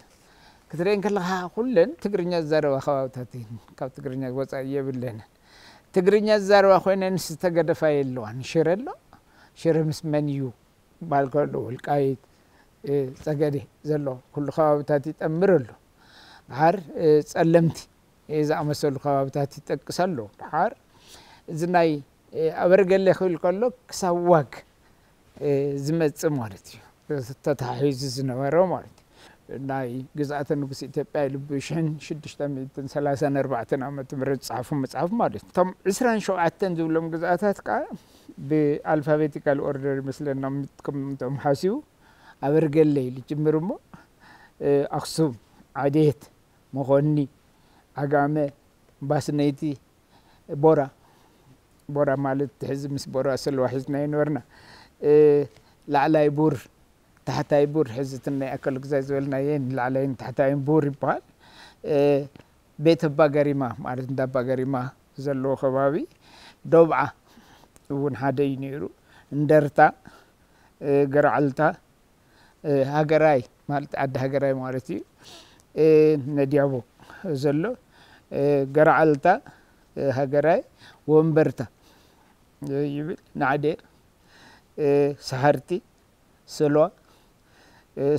ክትርእየን ከለኻ ኩለን ትግርኛ ዝዛረባ ከባብታት እየን። ካብ ትግርኛ ወፃኢ የብለንን። ትግርኛ ዝዛረባ ኮይነን ዝተገደፋ የለዋን። ሽረ ኣሎ። ሽረ ምስ መን እዩ ባል ከሎ ወልቃይት ፀገዴ ዘሎ ኩሉ ከባብታት ይጠምር ኣሎ። ድሓር ፀለምቲ ዝኣመሰሉ ከባብታት ይጠቅስ ኣሎ። ድሓር እዚ ናይ ኣበርገለ ክብል ከሎ ክሳብ ዋግ ዝመፅእ ማለት እዩ። ተታሒዙ ዝነበረ ማለት እዩ። ናይ ግዝኣተ ንጉስ ኢትዮጵያ ኢሉ ብሽሕን ሽዱሽተ ሚእትን ሰላሳን ኣርባዕተን ዓመተ ምህረት ዝፀሓፎ መፅሓፍ ማለት እዩ። እቶም ዕስራን ሸውዓተን ዝብሎም ግዝኣታት ከዓ ብኣልፋቤቲካል ኦርደር ይመስለና ምትኩም እቶም ሓሲቡ ኣበርገለ ኢሉ ጅምር እሞ ኣክሱም፣ ዓዴት፣ መኾኒ፣ ዓጋመ፣ ባስነይቲ፣ ቦራ፣ ቦራ ማለት ሕዚ ምስ ቦራ ሰለዋ ሒዝና ይነበርና። ላዕላይ ቡር፣ ታሕታይ ቡር፣ ሕዚ እቲ ናይ ኣከለ ግዛይ ዝበልናየን ላዕላይን ታሕታይን ቡር ይበሃል። ቤት ኣባ ገሪማ ማለት እንዳ ኣባ ገሪማ ዘለዎ ከባቢ፣ ዶብዓ እውን ሓደ እዩ ነይሩ። እንደርታ፣ ገርዓልታ፣ ሃገራይ ማለት ዓዲ ሃገራይ ማለት እዩ። ነዲያቦ ዘሎ ገርዓልታ፣ ሃገራይ ወንበርታ ይብል። ናዕዴ፣ ሳሕርቲ፣ ስልዋ፣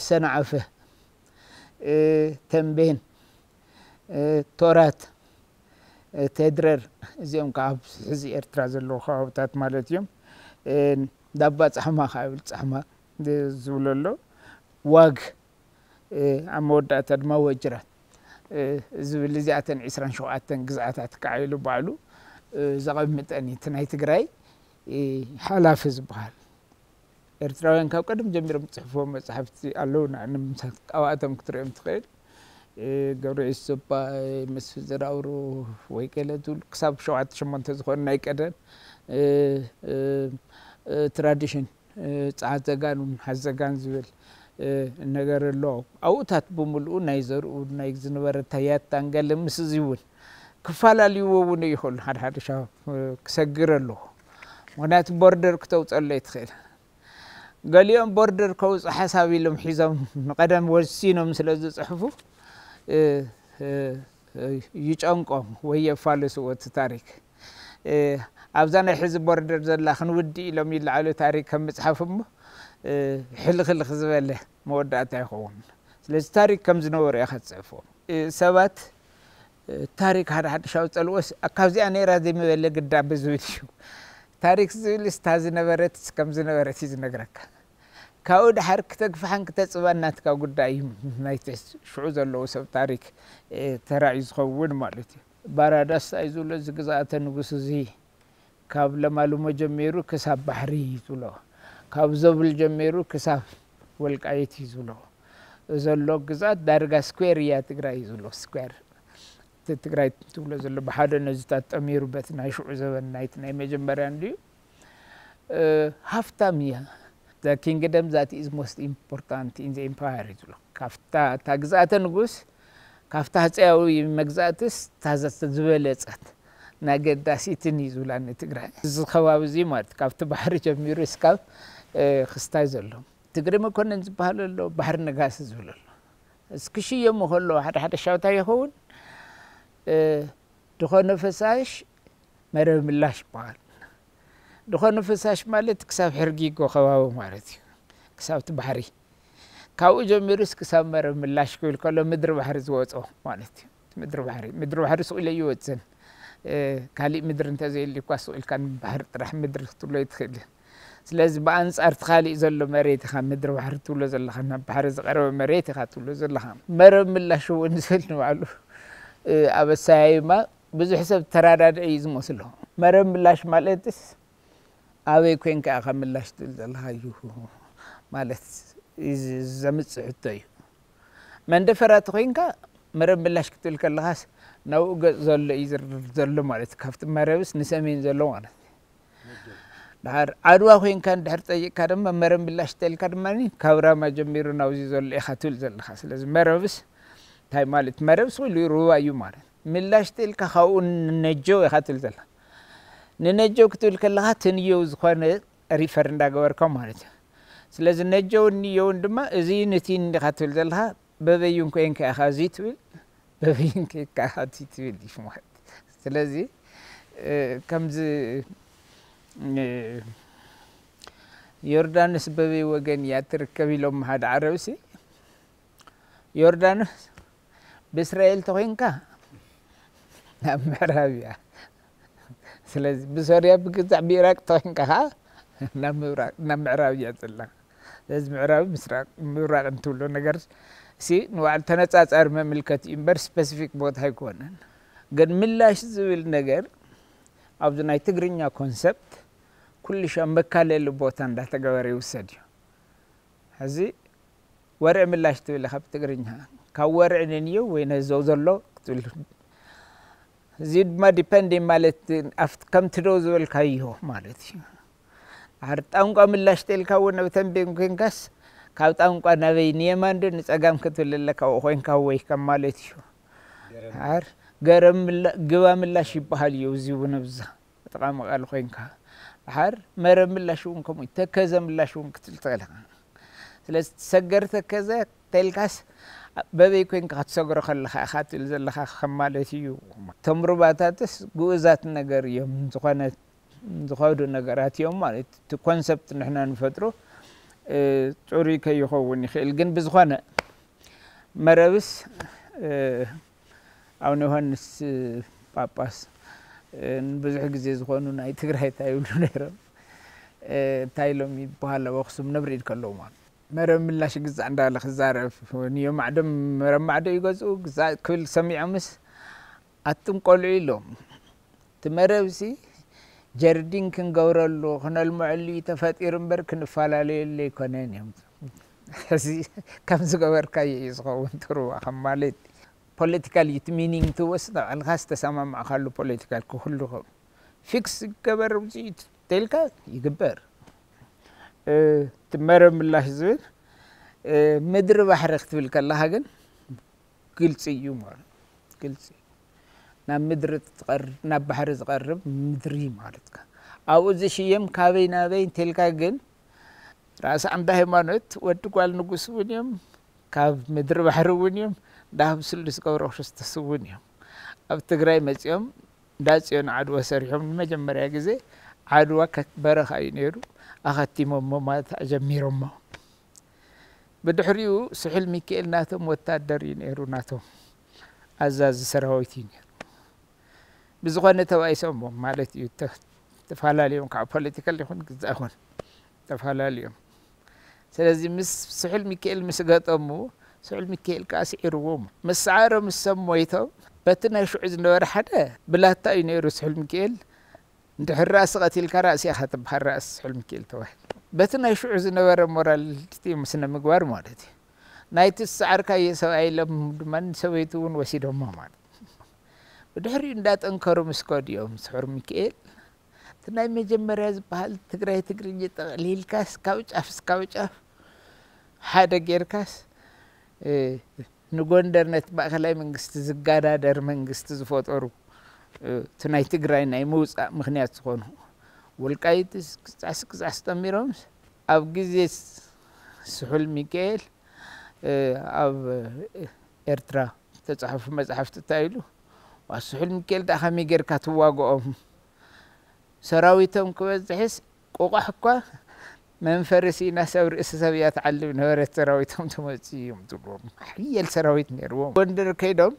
ሰንዓፈ፣ ተምቤን፣ ቶራት፣ ቴድረር፣ እዚኦም ከዓ ኣብ ሕዚ ኤርትራ ዘለዉ ከባብታት ማለት እዮም። ዳባ ጻሕማ ከዓ ይብል፣ ጻሕማ ዝብሎ ኣሎ። ዋግ፣ ኣብ መወዳእታ ድማ ወጅራት ዝብል፣ እዚኣተን ዕስራን ሸውዓተን ግዝኣታት ከዓ ኢሉ ባዕሉ ዘቐምጠን እዩ። እቲ ናይ ትግራይ ሓላፊ ዝበሃል ኤርትራውያን ካብ ቀደም ጀሚሮም ዝጽሕፍዎም መጻሕፍቲ ኣለዉ። ንኣብኣቶም ክትሪኦም ትኽእል። ገብረየሱስ ሶባ፣ መስፍን ዘርኣብሩ ወይ ገለ ዝብሉ ክሳብ ሸውዓተ ሸሞንተ ዝኾኑ ናይ ቀደም ትራዲሽን፣ ጸዓት ዘጋን ሓዘጋን ዝብል ነገር ኣሎ። ኣብኡታት ብምልኡ ናይ ዘርኡ ናይ ዝነበረ ተያታን ገለ ምስ እዚ እውን ክፈላለይዎ እውን ይኽእሉ። ሓደ ሓደ ሻብ ክሰግር ኣለዎ። ምኽንያቱ ቦርደር ክተውፀሎ ይትኽእል። ገሊኦም ቦርደር ከውፁ ሓሳብ ኢሎም ሒዞም ንቐደም ወሲኖም ስለ ዝፅሕፉ ይጨንቆም ወይ የፋልስዎ እቲ ታሪክ። ኣብዛ ናይ ሕዚ ቦርደር ዘላ ክንውዲ ኢሎም ይለዓሉ ታሪክ ከም ምፅሓፍ እሞ ሕልኽልኽ ዝበለ መወዳእታ ይኸውን። ስለዚ ታሪክ ከም ዝነበሩ ኢኻ ትፅሕፎ። ሰባት ታሪክ ሓደ ሓድሽ ኣውፀልዎስ ካብዚኣ ነይራ ዘይምበለ ግዳ ብዝብል እዩ። ታሪክ ዝብል ስታ ዝነበረት ከም ዝነበረት እዩ ዝነግረካ። ካብኡ ድሓር ክተግፍሓን ክተፅባን ናትካ ጉዳይ እዩ። ናይቲ ሽዑ ዘለዉ ሰብ ታሪክ ተራእዩ ዝኸውን ማለት እዩ። ባራዳስ ኣይዝብሎ እዚ ግዝኣተ ንጉስ እዚ ካብ ለማልሞ ጀሚሩ ክሳብ ባሕሪ እዩ ዝብሎ። ካብ ዘብል ጀሚሩ ክሳብ ወልቃይት እዩ ዝብሎ። ዘሎ ግዝኣት ዳርጋ ስኩዌር እያ ትግራይ እዩ ዝብሎ። ስኩዌር እቲ ትግራይ ትብሎ ዘሎ ብሓደ ነዚታት ጠሚሩ በቲ ናይ ሽዑ ዘበን ናይቲ ናይ መጀመርያ እንድዩ። ሃፍታም እያ። The kingdom that is most important in the empire እዩ ዝብሎ። ካብታ እታ ግዝኣተ ንጉስ ካብታ ህፀያዊ መግዛእትስ እታ ዝበለፀት ናገዳሲትን እዩ ዝብላ ንትግራይ። እዚ ከባቢ እዚ ማለት ካብቲ ባሕሪ ጀሚሩ እስካብ ክስታይ ዘሎ ትግሪ መኮንን ዝበሃል ኣሎ፣ ባሕሪ ነጋሲ ዝብል ኣሎ። እስክሽየሙ ከለዉ ሓደ ሓደ ሻውታ ይኸውን። ድኾነ ፈሳሽ መረብ ምላሽ ይበሃል። ድኾነ ፈሳሽ ማለት ክሳብ ሕርጊጎ ከባቢ ማለት እዩ። ክሳብ እቲ ባሕሪ ካብኡ ጀሚሩስ ክሳብ መረብ ምላሽ ክብል ከሎ ምድሪ ባሕሪ ዝወፆ ማለት እዩ። ምድሪ ባሕሪ ምድሪ ባሕሪ ስቕ ኢለ ይወፅን። ካሊእ ምድሪ እንተዘየልዩ እኳ ስቕ ኢልካ ንባሕሪ ጥራሕ ምድሪ ክትብሎ ይትኽእል። ስለዚ ብኣንፃር እቲ ካሊእ ዘሎ መሬት ኢኻ ምድሪ ባሕሪ ትብሎ ዘለኻ፣ ናብ ባሕሪ ዝቐረበ መሬት ኢኻ ትብሎ ዘለኻ። መረብ ምላሽ እውን ዝብል ንባዕሉ ኣብ ኣሰያይማ ብዙሕ ሰብ ተራዳድዒ እዩ ዝመስሎ። መረብ ምላሽ ማለትስ ኣበይ ኮንካ ኢኻ ምላሽ ትብል ዘለኻ እዩ ማለት ዘምፅእ ሕቶ እዩ። መንደፈራ ተኮይንካ መረብ ምላሽ ክትብል ከለኻስ ናብኡ ገፅ ዘሎ እዩ ዝርር ዘሎ ማለት እዩ። ካብቲ መረብስ ንሰሜን ዘሎ ማለት እዩ። ድሓር ዓድዋ ኮይንካ እንድሕር ጠይቅካ ድማ መረብ ምላሽ ተልካ ድማ ካብ ራማ ጀሚሩ ናብዚ ዘሎ ኢኻ ትብል ዘለኻ። ስለዚ መረብስ እንታይ ማለት መረብ ስሉ ሩባ እዩ ማለት ምላሽ ተልካ ካብኡ ንነጀው ኢኻ ትብል ዘለኻ። ንነጀው ክትብል ከለኻ ትንየው ዝኾነ ሪፈር እንዳገበርካ ማለት እዩ። ስለዚ ነጀውን ንየውን ድማ እዚ ንቲን እንዲኻ ትብል ዘለኻ በበይን ኮይንካ ኢኻ እዚ ትብል በበይን ኮይንካ ኢኻ እቲ ትብል እዩ ማለት። ስለዚ ከምዚ ዮርዳኖስ በበይ ወገን እያ ትርከብ ኢሎም ሓደ ዓረብሲ ዮርዳኖስ ብእስራኤል ተኮይንካ ናብ ምዕራብ እያ። ስለዚ ብሶርያ ብግዛዕ ብኢራቅ ተኮይንካ ከዓ ናብ ምዕራብ እያ ዘላ። ስለዚ ምዕራብ ምስራቅ ምብራቅ እንትብሎ ነገር ሲ ንባዕሉ ተነፃፃሪ መምልከት እዩ እምበር ስፐሲፊክ ቦታ ኣይኮነን። ግን ምላሽ ዝብል ነገር ኣብዚ ናይ ትግርኛ ኮንሰፕት ኩሉ ሻ መካለሊ ቦታ እንዳተገበረ ይውሰድ እዩ። ሕዚ ወርዒ ምላሽ ትብል ኢኻ ብትግርኛ ካብ ወርዒ ንንየው ወይ ነዘው ዘሎ ክትብል። እዚ ድማ ዲፐንድ ማለት ኣብቲ ከምቲ ደው ዝበልካዮ ማለት እዩ። ድሓር ጣንቋ ምላሽ ተልካ እውን ኣብ ተንቤን ኮንካስ ካብ ጣንቋ ናበይ ንየማን ዶ ንፀጋም ክትብል ኣለካ ኣብኡ ኮይንካ ወይ ከም ማለት እዩ። ድሓር ገረብ ግባ ምላሽ ይበሃል እዩ እዚ እውን ኣብዛ ተጠቃሚ ቃል ኮይንካ ድሓር መረብ ምላሽ እውን ከምኡ ተከዘ ምላሽ እውን ክትብል ትኽእል ኢኻ። ስለዚ ሰገር ተከዘ ተልካስ በበይ ኮይንካ ክትሰግሮ ከለካ ኢካ ትብል ዘለካ ከም ማለት እዩ። እቶም ሩባታትስ ግኡዛት ነገር እዮም ዝኾነ ዝኸዱ ነገራት እዮም ማለት እቲ ኮንሰፕት ንሕና ንፈጥሮ ፅሩይ ከይኸውን ይኽእል ግን ብዝኾነ መረብስ ኣቡነ ዮሃንስ ጳጳስ ንብዙሕ ግዜ ዝኾኑ ናይ ትግራይ እንታይ ይብሉ ነይሮም እንታይ ኢሎም ይበሃል ኣብ ኣክሱም ነብሪድ ከለዉ ማለት መረብ ምላሽ ግዛዕ እንዳለ ክዛረብ ንዮ ማዕዶ መረብ ማዕዶ ይገዝኡ ግዛዕ ክብል ሰሚዖምስ ኣቱም ቆልዑ ኢሎም እቲ መረብሲ ጀርዲን ክንገብረሉ ክነልምዐሉ እዩ ተፈጢሩ እምበር ክንፈላለየሉ ኣይኮነን እዮም። እዚ ከም ዝገበርካዮ እዩ ዝኸውን ትርዋ ከም ማለት ፖለቲካል እዩ እቲ ሚኒንግ ትወስድ ኣልካ ዝተሰማማዕካሉ ፖለቲካል ክህሉ ፊክስ ይገበር ውፅኢት ተልካ ይግበር። እቲ መረብ ምላሽ ዝብል ምድሪ ባሕሪ ክትብል ከለካ ግን ግልፂ እዩ ማለት ግልፂ ናብ ምድሪ ትቐርብ ናብ ባሕሪ ዝቐርብ ምድሪ ማለትካ ኣብኡ ዝሽየም ካበይ ናበይ እንተልካ ግን ራእሲ ዓንዳ ሃይማኖት ወዲ ጓል ንጉስ እውን እዮም ካብ ምድሪ ባሕሪ እውን እዮም ዳህብ ስሉስ ገብረ ክርስቶስ እውን እዮም ኣብ ትግራይ መፂኦም እንዳ ፅዮን ዓድዋ ሰሪሖም ንመጀመርያ ግዜ ዓድዋ በረኻ እዩ ነይሩ ኣኸቲሞሞ ማለት ኣጀሚሮሞ ብድሕሪኡ ስሑል ሚካኤል ናቶም ወታደር እዩ ነይሩ ናቶም ኣዛዚ ሰራዊት እዩ ነይሩ ብዝኾነ ተባኢሶሞ ማለት እዩ ተፈላለዮም ካብ ፖለቲካል ይኹን ግዛ ይኹን ተፈላለዮም ስለዚ ምስ ስሑል ሚካኤል ምስ ገጠሙ ስሑል ሚካኤል ከዓ ስዒርዎም ምስ ሰዓሮም እሶም ሞይቶም በቲ ናይ ሽዑ ዝነበረ ሓደ ብላታ እዩ ነይሩ ስሑል ሚካኤል እንድሕር ራእሲ ቀቲልካ ራእሲ ኢኻ ትበሃል ራእሲ ስሑል ሚካኤል ተባሂሉ በቲ ናይ ሽዑ ዝነበረ ሞራል ስነ ምግባር ማለት እዩ ናይቲ ዝሰዓርካዮ ሰብኣይ ኢሎም ድማ ሰበይቱ እውን ወሲዶሞ ማለት ብድሕሪኡ እንዳጠንከሩ ምስ ከዱ እዮም ስሑል ሚካኤል እቲ ናይ መጀመርያ ዝበሃል ትግራይ ትግርኛ ጠቕሊልካስ ካብ ጫፍ እስካብ ጫፍ ሓደ ጌርካስ፣ እ፣ ንጎንደር ነቲ ማእኸላይ መንግስቲ ዝጋዳደር መንግስቲ ዝፈጠሩ፣ እ፣ እቲ ናይ ትግራይ ናይ ምውፃእ ምኽንያት ዝኾኑ ወልቃይት ክጻስ ክጻስ ጠሚሮምስ ኣብ ግዜ ስሑል ሚካኤል፣ እ፣ ኣብ ኤርትራ ዝተጻሕፉ መጻሕፍቲ እንታይ ኢሉ? ዋ፣ ስሑል ሚካኤል ደኣ ከመይ ጌርካ ትዋግኦም? ሰራዊቶም ክበዝሕስ፣ ቆቋሕ እኳ መንፈሪ ሲኢናስ ኣብ ርእሲ ሰብ እያ ትዓልብ ነበረት፣ ሰራዊቶም ተመጽኡ እዮም ትብልዎም። ሓያል ሰራዊት ነይርዎም። ጎንደር ከይዶም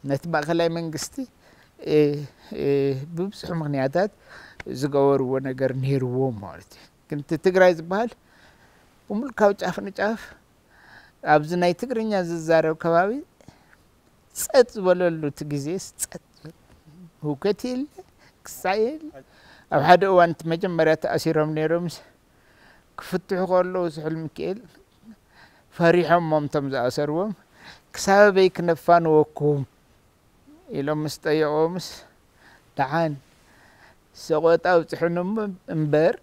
ነቲ ማእከላይ መንግስቲ፣ እ፣ እ፣ ብብዙሕ ምኽንያታት ዝገበርዎ ነገር ነይርዎም ማለት እዩ። ግን እቲ ትግራይ ዝበሃል ብምሉእ ካብ ጫፍ ንጫፍ ኣብዚ ናይ ትግርኛ ዝዛረብ ከባቢ ጸጥ ዝበለሉ፣ እቲ ግዜስ ጸጥ፣ ህውከት የለ፣ ክሳዕ የለ። ኣብ ሓደ እዋን እቲ መጀመርያ ተኣሲሮም ነይሮምስ ክፍትሑ ከለዉ ስሑል ሚካኤል ፈሪሖሞም እቶም ዝኣሰርዎም፣ "ክሳብ ኣበይ ክነፋንወኩም?" ኢሎም ምስ ጠየቖምስ፣ "ደሓን ሰቆጣ ኣብጽሑኒ እሞ እምበር፣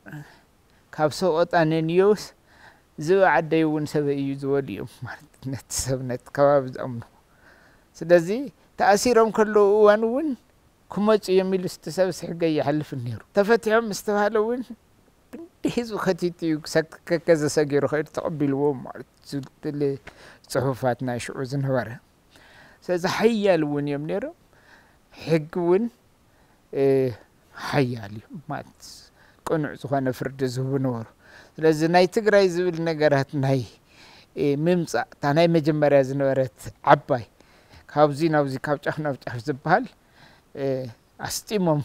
ካብ ሰቆጣ ነንዮስ ዝብ ዓደይ እውን ሰበይ እዩ" ዝበሉ እዮም ማለት ነቲ ሰብ፣ ነቲ ከባቢ ዝኣምኑ። ስለዚ ተኣሲሮም ከለዉ እዋን እውን ክመጹ እዮም ኢሉ እቲ ሰብ ስሕገ ይሓልፍን ነይሩ። ተፈቲሖም ምስ ተባሃለ እውን ክንዲ ህዝቢ ከቲቱ እዩ፣ ክሰ-፣ ከከዘ ሰጊሩ ከይዱ ተቐቢልዎም ማለት እዩ። ዝብል ጽሑፋት ናይ ሽዑ ዝነበረ። ስለዚ ሓያል እውን እዮም ነይሮም። ሕጊ እውን፣ እ፣ ሓያል እዩ ማለት ቅኑዕ ዝኾነ ፍርዲ ዝህቡ ነበሩ። ስለዚ ናይ ትግራይ ዝብል ነገራት ናይ፣ እ፣ ምምጻእ፣ እታ ናይ መጀመርያ ዝነበረት ዓባይ ካብዚ ናብዚ ካብ ጫፍ ናብ ጫፍ ዝበሃል፣ እ፣ ኣስጢሞም፣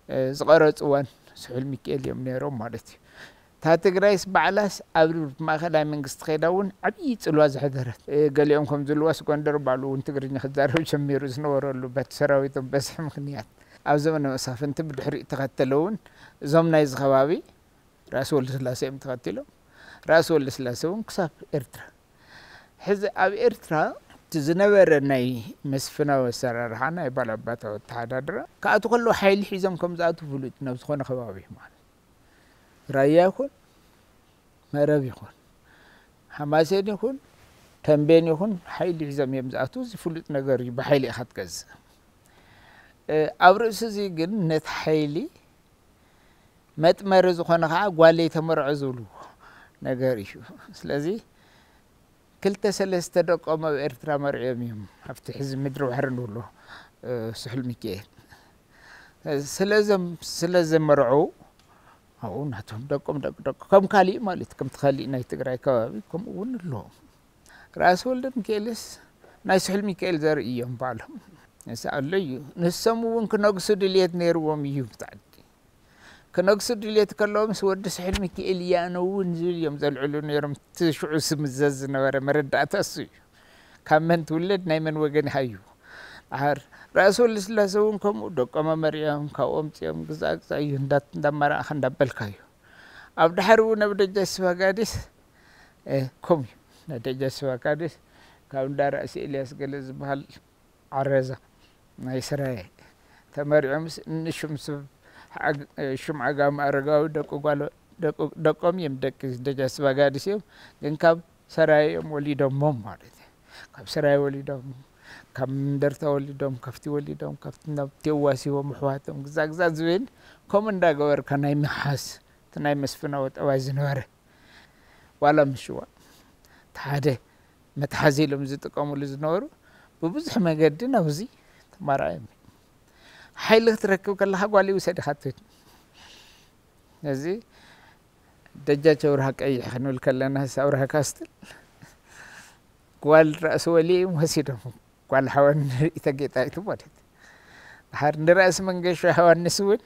እ፣ ዝቐረጽዋን ስሑል ሚካኤል እዮም ነይሮም ማለት እዩ። እታ ትግራይስ ባዕላስ ኣብ ማእከላይ መንግስቲ ከይዳ እውን ዓብዪ ጽልዋ ዘሕደረት። እ፣ ገሊኦም ከም ዝብልዋስ ጎንደር ባዕሉ እውን ትግርኛ ክዛረብ ጀሚሩ ዝነበረሉ በቲ ሰራዊቶም በዝሒ ምኽንያት። ኣብ ዘመነ መሳፍንቲ ብድሕሪኡ ተኸተለ እውን እዞም ናይዚ ከባቢ ራእሲ ወልደስላሴ እዮም ተኸቲሎም። ራእሲ ወልደስላሴ እውን ክሳብ ኤርትራ። ሕዚ ኣብ ኤርትራ እቲ ዝነበረ ናይ መስፍናዊ ኣሰራርሓ ናይ ባላባታዊ ኣተሓዳድራ ክኣትዉ ከለዉ ሓይሊ ሒዞም ከም ዝኣትዉ ፍሉጥ ናብ ዝኾነ ከባቢ ማለት ራያ ይኹን መረብ ይኹን ሓማሴን ይኹን ተንቤን ይኹን ሓይሊ ሒዞም እዮም ዝኣትዉ። እዚ ፍሉጥ ነገር እዩ። ብሓይሊ ኢኻ ትገዝእ። እ፣ ኣብ ርእሲ እዚ ግን ነቲ ሓይሊ መጥመሪ ዝኾነ ከዓ ጓለይ ተመርዖ ዝብሉ ነገር እዩ። ስለዚ ክልተ ሰለስተ ደቆም ኣብ ኤርትራ መርዕዮም እዮም። ኣብቲ ሕዚ ምድሪ ባሕሪ ንብሎ፣ እ፣ ስሑል ሚካኤል። ስለዘም-፣ ስለዘመርዑ ኣብኡ ናቶም ደቆም ደቂ ደቂ ከም ካሊእ ማለት ከምቲ ካሊእ ናይ ትግራይ ከባቢ ከምኡ እውን ኣለዎም። ራእሲ ወልደ ሚካኤልስ ናይ ስሑል ሚካኤል ዘርኢ እዮም ባዕሎም። ንስ ኣሎ እዩ። ንሶም እውን ክነግሱ ድልየት ነይርዎም እዩ ብታዕዲ። ክነግሱ ድልየት ከለዎም ምስ ወዲ ስሑል ሚካኤል እየ ኣነ እውን ዝብል እዮም ዘልዕሉ ነይሮም። እቲ ሽዑ ስምዘዝ ዝነበረ መረዳእታ እሱ እዩ። ካብ መን ትውለድ ናይ መን ወገን ኢኻ እዩ። ድሓር ራእሲ ወልደስላሴ እውን ከምኡ ደቆም ኣመርዕዮም ካብኦም ኣምጺኦም ግዛእ ግዛእ እዩ እንዳ-፣ እንዳመራእኻ እንዳበልካ እዩ። ኣብ ድሓር እውን ኣብ ደጃች ስባጋዲስ፣ እ፣ ከምኡ እዩ። ናይ ደጃች ስባጋዲስ ካብ እንዳ ራእሲ ኤልያስ ገለ ዝበሃል ዓረዛ ናይ ስራየ ተመሪዖምስ ንሹም ስብ-፣ ዓግ-፣ ሹም ዓጋመ ኣረጋዊ ደቂ ጓሎ-፣ ደቂ-፣ ደቆም እዮም፣ ደቂ ደጃች ስባጋዲስ እዮም። ግን ካብ ሰራየ እዮም ወሊዶሞም ማለት እዩ። ካብ ሰራየ ወሊዶም፣ ካብ እንደርታ ወሊዶም፣ ከፍቲ ወሊዶም፣ ከፍቲ ናብ ቴዋስ ሂቦም ኣሕዋቶም፣ ግዛ ግዛ ዝብል ከምኡ እንዳገበርካ ናይ ምሓዝ፣ እቲ ናይ መስፍናዊ ጠባይ ዝነበረ። ዋላ ምሽዋ፣ እቲ ሓደ መትሓዚ ኢሎም ዝጥቀሙሉ ዝነበሩ፣ ብብዙሕ መገዲ ናብዚ ተማርዖም እዮም። ሓይሊ ክትረክብ ከለኻ ጓል ይውሰድ ኢኻ ትብል። እዚ ደጃች ኣብርሃ ቀይሕ ክንብል ከለና፣ ኣብርሃ ካስትል ጓል ራእሲ ወሊ እዮም ወሲዶም። ጓል ሓወን ንርኢ ተጌጣይቱ ማለት እዩ። ድሓር ንራእሲ መንገሻ ዮሃንስ እውን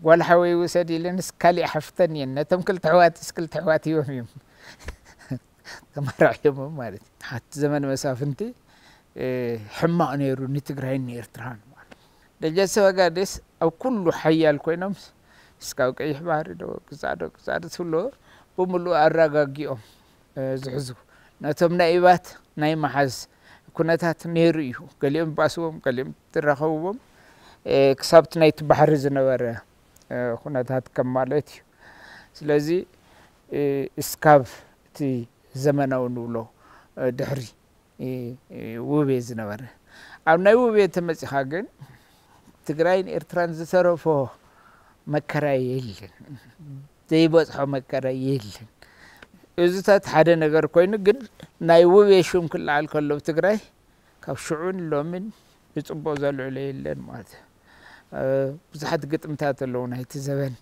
ጓል ሓወይ ውሰድ ኢለንስ ካሊእ ሓፍተን እየን። ነቶም ክልተ ኣሕዋትስ ክልተ ኣሕዋት እዮም እዮም ተመራዕዮሞም ማለት እዩ። ሓቲ ዘመን መሳፍንቲ፣ እ፣ ሕማቕ ነይሩ ንትግራይን ንኤርትራን ማለት እዩ። ደጃች ሰባጋዴስ ኣብ ኩሉ ሓያል ኮይኖም እስካብ ቀይሕ ባሕሪ ዶ ግዛእ ዶ ግዛእ ዶ ትብሎ ብምሉእ ኣረጋጊኦም፣ እ፣ ዝሕዙ። ነቶም ናይ ኢባት ናይ መሓዝ ኩነታት ነይሩ እዩ። ገሊኦም ባስዎም፣ ገሊኦም ትራኸብዎም፣ እ፣ ክሳብቲ ናይቲ ባሕሪ ዝነበረ ኩነታት ከም ማለት እዩ። ስለዚ እስካብ እቲ ዘመናዊ ንብሎ ድሕሪ ውቤ ዝነበረ፣ ኣብ ናይ ውቤ ተመፂኻ ግን ትግራይን ኤርትራን ዝተረፎ መከራ የለን፣ ዘይበፅሖ መከራ የለን። እዚታት ሓደ ነገር ኮይኑ ግን ናይ ውቤ ሽም ክለዓል ከሎ ትግራይ ካብ ሽዑን ሎምን ብፅቡቕ ዘልዕሎ የለን ማለት እዩ። ብዙሓት ግጥምታት ኣለዉ ናይቲ ዘበን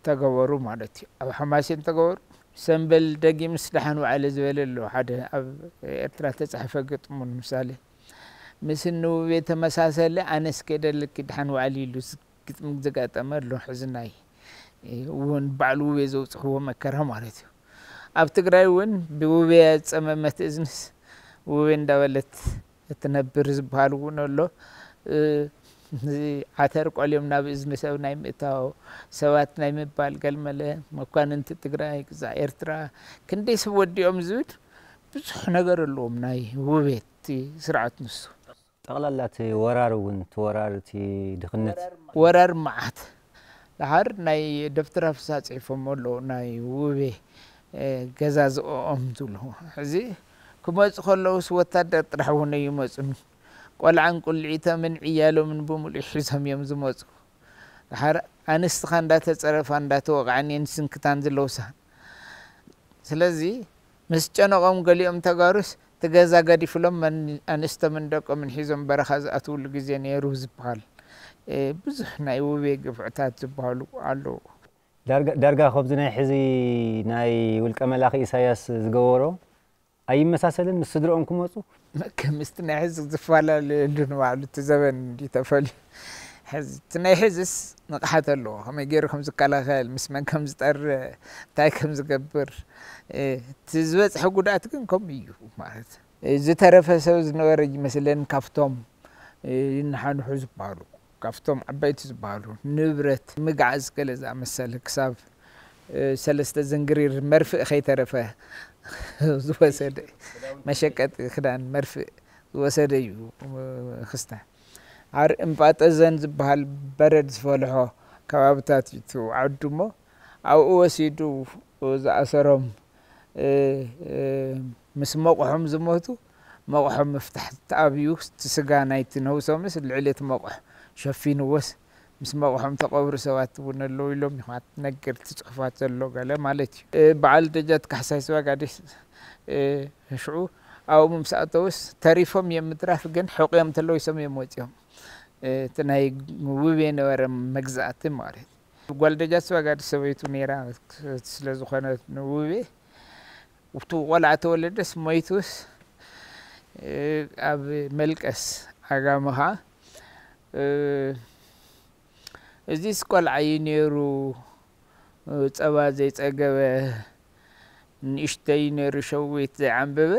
ተገበሩ ማለት እዩ። ኣብ ሓማሴን ተገበሩ። ሰምበል ደጊምስ ደሓን ዋዕለ ዝበለ ኣሎ ሓደ ኣብ ኤርትራ ተፃሕፈ ግጥሙ ንምሳሌ ምስ ንውቤ ተመሳሰለ ኣነስ ከደልኪ ደሓን ዋዕሊ ኢሉ ግጥሚ ዘጋጠመ ኣሎ። ሕዚ ናይ እውን ባዕሉ ውቤ ዘውፅሕዎ መከራ ማለት እዩ። ኣብ ትግራይ እውን ብውቤ ያጸመመት እዝንስ ውቤ እንዳበለት እትነብር ዝበሃል እውን ኣሎ። ዓተር ቆልዮም ናብ እዝኒ ሰብ ናይ ምእታው፣ ሰባት ናይ ምባል፣ ገልመለ መኳንንቲ ትግራይ ክዛዕ ኤርትራ ክንደይ ሰብ ወዲኦም ዝብል ብዙሕ ነገር ኣለዎም ናይ ውቤ እቲ ስርዓት ንሱ። ጠቕላላ እቲ ወራር እውን፣ እቲ ወራር፣ እቲ ድኽነት። ወራር መዓት። ደሓር ናይ ደብተራ ፍስሃ ጽሒፎም ኣለዉ፣ ናይ ውቤ ገዛ ዝእኦም ዝብሉ። ሕዚ ክመፁ ከለውስ ወታደር ጥራሕ እውን ኣይመፁን። ቆልዓን ቁልዒቶምን ዕያሎምን ብምሉእ ሒዞም እዮም ዝመፁ። ደሓር ኣንስትኻ እንዳተፀረፋ እንዳተወቕዓን እየን ስንክታን ዝለውሳ። ስለዚ ምስ ጨነቖም ገሊኦም ተጋሩስ እቲ ገዛ ገዲፍሎም ኣንስቶምን ደቆምን ሒዞም በረኻ ዝኣትውሉ ግዜ ነይሩ ዝበሃል። ብዙሕ ናይ ውቤ ግፍዕታት ዝበሃሉ ኣለዉ። ዳርጋ ዳርጋ ከብዚ ናይ ሕዚ ናይ ውልቀ መላኺ ኢሳያስ ዝገበሮ ኣይመሳሰልን ምስ ስድርኦም ክመፁ? ከምስቲ ናይ ሕዚ ዝፈላለየሉ ንባዕሉ እቲ ዘበን እንዲ ተፈልዩ። ሕዚ እቲ ናይ ሕዝስ ንቕሓት ኣለዎ፣ ከመይ ገይሩ ከም ዝከላኸል፣ ምስ መን ከም ዝጠርዕ፣ እንታይ ከም ዝገብር። እቲ ዝበፅሐ ጉድኣት ግን ከምኡ እዩ ማለት። ዝተረፈ ሰብ ዝነበረ ይመስለን ካብቶም ይነሓንሑ ዝበሃሉ፣ ካብቶም ዓበይቲ ዝበሃሉ ንብረት ምግዓዝ ገለ ዝኣመሰለ ክሳብ ሰለስተ ዝንግሪር መርፍእ ከይተረፈ ዝወሰደ፣ መሸቀጢ ክዳን መርፍእ ዝወሰደ እዩ ክስተ። ኣር እምጳጠዘን ዝበሃል በረድ ዝፈልሖ ከባብታት እዩ እቲ ዓዱ እሞ ኣብኡ ወሲዱ ዝኣሰሮም ምስ መቑሖም ዝሞቱ መቑሖም ምፍታሕ ተኣብዩ እቲ ስጋ ናይቲ ነውሶምስ ልዕሊ እቲ መቑሕ ሸፊንዎስ ምስ መቑሖም ተቐብሩ ሰባት እውን ኣለዉ ኢሎም ኢኻ ትነግር እቲ ፅሑፋት ዘሎ ገለ ማለት እዩ። በዓል ደጃት ካሕሳይ ስባጋዴስ ሽዑ ኣብኡ ምስ ኣተውስ ተሪፎም እዮም ምትራፍ ግን ሕቑዮም ተለዊሶም እዮም ወፂኦም። እቲ ናይ ውቤ ነበረ መግዛእቲ ማለት ጓል ደጃት ስባጋዲ ሰበይቱ ነይራ ስለ ዝኾነት ንውቤ እቲ ቆልዓ ተወለደስ ሞይቱስ ኣብ መልቀስ ዓጋመኻ እዚስ ቆልዓ እዩ ነይሩ ጸባ ዘይጸገበ ንእሽተይ ነይሩ ሸዊት ዘይዓንበበ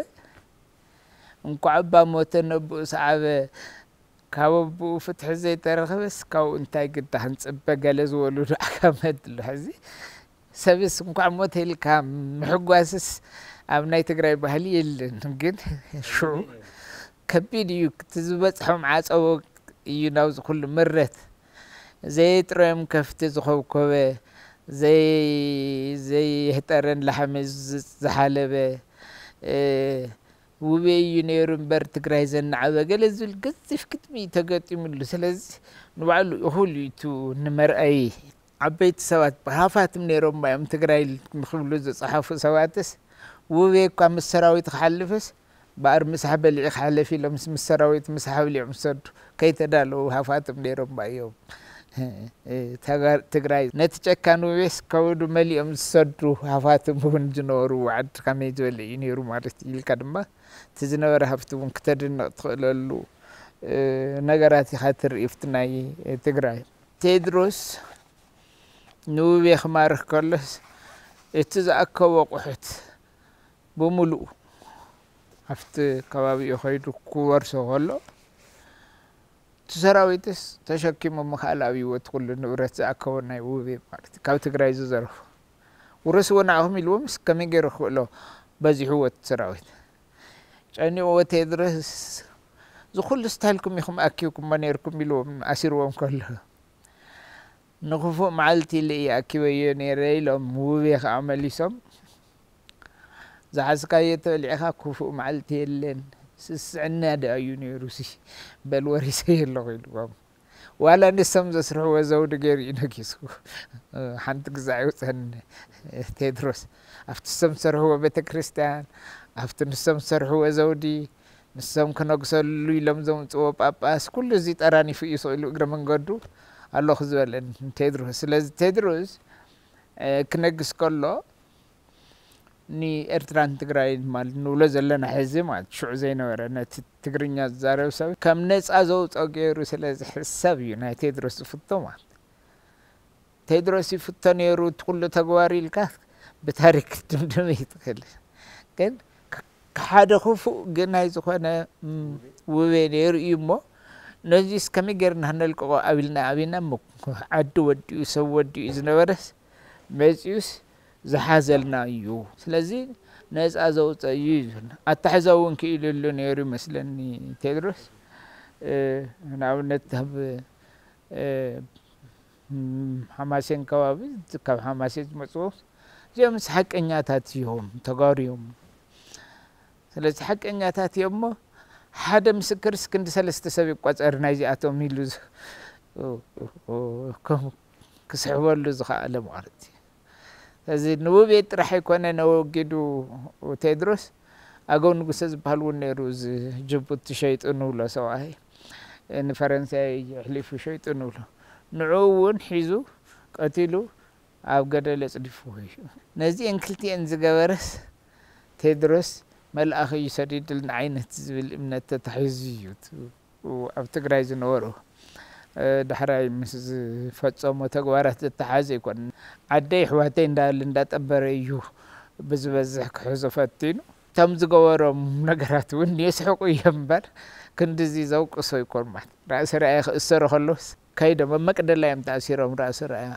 እንኳዕ እባ ሞተ ነብኡ ሰዓበ ካብ ኣቦኡ ፍትሒ ዘይተረኸበስ ካብኡ እንታይ ግዳ ክንጽበ ገለ ዝበሉ ዱዓ ካብ መድሎ ሕዚ ሰብስ እንኳዕ ሞተ ኢልካ ምሕጓስስ ኣብ ናይ ትግራይ ባህሊ የለን። ግን ሽዑ ከቢድ እዩ እቲ ዝበፅሖም ዓፀቦ እዩ ናብዚ ኩሉ ምረት ዘየጥረዮም ከፍቲ ዝኸብኮበ ዘይህጠረን ላሕሚ ዝሓለበ ውቤ እዩ ነይሩ እምበር ትግራይ ዘናዓበ ገለ ዝብል ገዚፍ ግጥሚ እዩ ተገጢሙሉ። ስለዚ ንባዕሉ እኹል እዩ እቲ ንመርኣዪ ዓበይቲ ሰባት ሃፋትም ነይሮም እዮም ትግራይ ንክብሉ ዝፀሓፉ ሰባትስ ውቤ እኳ ምስ ሰራዊት ክሓልፍስ በኣር ምሳሕ በሊዒ ክሓለፍ ኢሎምስ ምስ ሰራዊት ምሳሕ በሊዖም ዝሰዱ ከይተዳለዉ ሃፋትም ነይሮም እዮም። ትግራይ ነቲ ጨካን ውቤስ ከብዱ መሊኦም ዝሰዱ ሃፋትም እውን ዝነበሩ ዓዲ ከመይ ዝበለ እዩ ነይሩ ማለት ኢልካ ድማ እቲ ዝነበረ ሃፍቲ እውን ክተድንቕ ትኽእለሉ ነገራት ኢኻ ትርኢ ብቲ ናይ ትግራይ። ቴድሮስ ንውቤ ክማርኽ ከሎስ እቲ ዝኣከቦ ኣቑሑት ብምሉኡ ኣብቲ ከባቢኡ ከይዱ ክወርሶ ከሎ እቲ ሰራዊትስ ተሸኪሙ ምኽኣል ኣብይዎ እቲ ኩሉ ንብረት ዝኣከቦ ናይ ውቤ ማለት ካብ ትግራይ ዝዘረፎ ውረስዎ ንዓኹም ኢልዎም ምስ ከመይ ገይሩ ክኽእሎ በዚሕዎ እቲ ሰራዊት ጨኒቕዎ ቴድሮስ ዝኩሉ ስታይልኩም ኢኹም ኣኪብኩሞ ነይርኩም ኢልዎም ኣሲርዎም ከሎ ንክፉእ መዓልቲ ኢለ እየ ኣኪበዮ ነይረ ኢሎም ውቤ ከዓ መሊሶም፣ ዝሓዝካዮ ተበሊዕካ ክፉእ መዓልቲ የለን፣ ስስዕና ደኣ እዩ ነይሩ ሲ፣ በል ወሪሰዮ ኣለኹ ኢልዎም። ዋላ ንሶም ዘስርሕዎ ዘውዲ ገይሩ እዩ ነጊሱ። ሓንቲ ግዛዕ ይውፀኒ ቴድሮስ። ኣብቲ ንሶም ዝሰርሕዎ ቤተ ክርስቲያን፣ ኣብቲ ንሶም ዝሰርሕዎ ዘውዲ፣ ንሶም ክነግሰሉ ኢሎም ዘምፅዎ ጳጳስ፣ ኩሉ እዚ ጠራኒፉ እዩ ስቕ ኢሉ እግረ መንገዱ ኣለኹ ዝበለን ቴድሮስ። ስለዚ ቴድሮስ ክነግስ ከሎ ንኤርትራን ትግራይን ማለት ንብሎ ዘለና ሕዚ ማለት ሽዑ ዘይነበረ ነቲ ትግርኛ ዝዛረብ ሰብ ከም ነፃ ዘውፅኦ ገይሩ ስለ ዝሕሰብ እዩ ናይ ቴድሮስ ዝፍቶ ማለት። ቴድሮስ ይፍቶ ነይሩ እቲ ኩሉ ተግባሩ ኢልካ ብታሪክ ክትድምድም ይትኽእል። ግን ሓደ ክፉእ ግናይ ዝኾነ ውቤ ነይሩ እዩ እሞ ነዚስ ከመይ ጌርና ክነልቅቖ ኣቢልና ኣቢና እሞ ዓዲ ወዲኡ ሰብ ወዲኡ ዝነበረስ መፂኡስ ዝሓዘልና እዩ። ስለዚ ነፃ ዘውፀ እዩ እዩ። ኣታሕዛ እውን ክኢልሉ ነይሩ ይመስለኒ ቴድሮስ። ንኣብነት ኣብ ሓማሴን ከባቢ ካብ ሓማሴን ዝመፅዎ እዚኦምስ ሓቀኛታት እዮም፣ ተጋሩ እዮም። ስለዚ ሓቀኛታት እዮም እሞ ሓደ ምስክርስ ክንዲ ሰለስተ ሰብ ይቋፀር ናይዚኣቶም ኢሉ ክስሕበሉ ዝኸኣለ ማለት እዩ። ስለዚ ንውቤ ጥራሕ ኣይኮነ ነወጊዱ ቴድሮስ፣ ኣገው ንጉሰ ዝበሃል እውን ነይሩ፣ እዚ ጅቡቲ ሸይጡ ንብሎ ሰብኣይ፣ ንፈረንሳይ ኣሕሊፉ ሸይጡ ንብሎ፣ ንዕኡ እውን ሒዙ ቀቲሉ ኣብ ገደል ኣፅዲፍዎ እዩ። ነዚአን ክልቲአን ዝገበረስ ቴድሮስ መልኣኽ እዩ ሰዲድልና ዓይነት ዝብል እምነት ተታሒዙ እዩ። ኣብ ትግራይ ዝነበሩ ዳሕራይ ምስ ዝፈፀሞ ተግባራት ዝተሓዘ ኣይኮነን። ዓደይ ኣሕዋተይ እንዳበለ እንዳጠበረ እዩ ብዝበዝሕ ክሕዞ ፈቲኑ። እቶም ዝገበሮም ነገራት እውን የስሕቑ እዮም እምበር ክንድዚ ዘውቅሶ ኣይኮን ማለት። ራእሲ ራእየ ክእሰሩ ከለውስ ከይዶም ኣብ መቅደላ እዮም ተኣሲሮም። ራእሲ ራእያ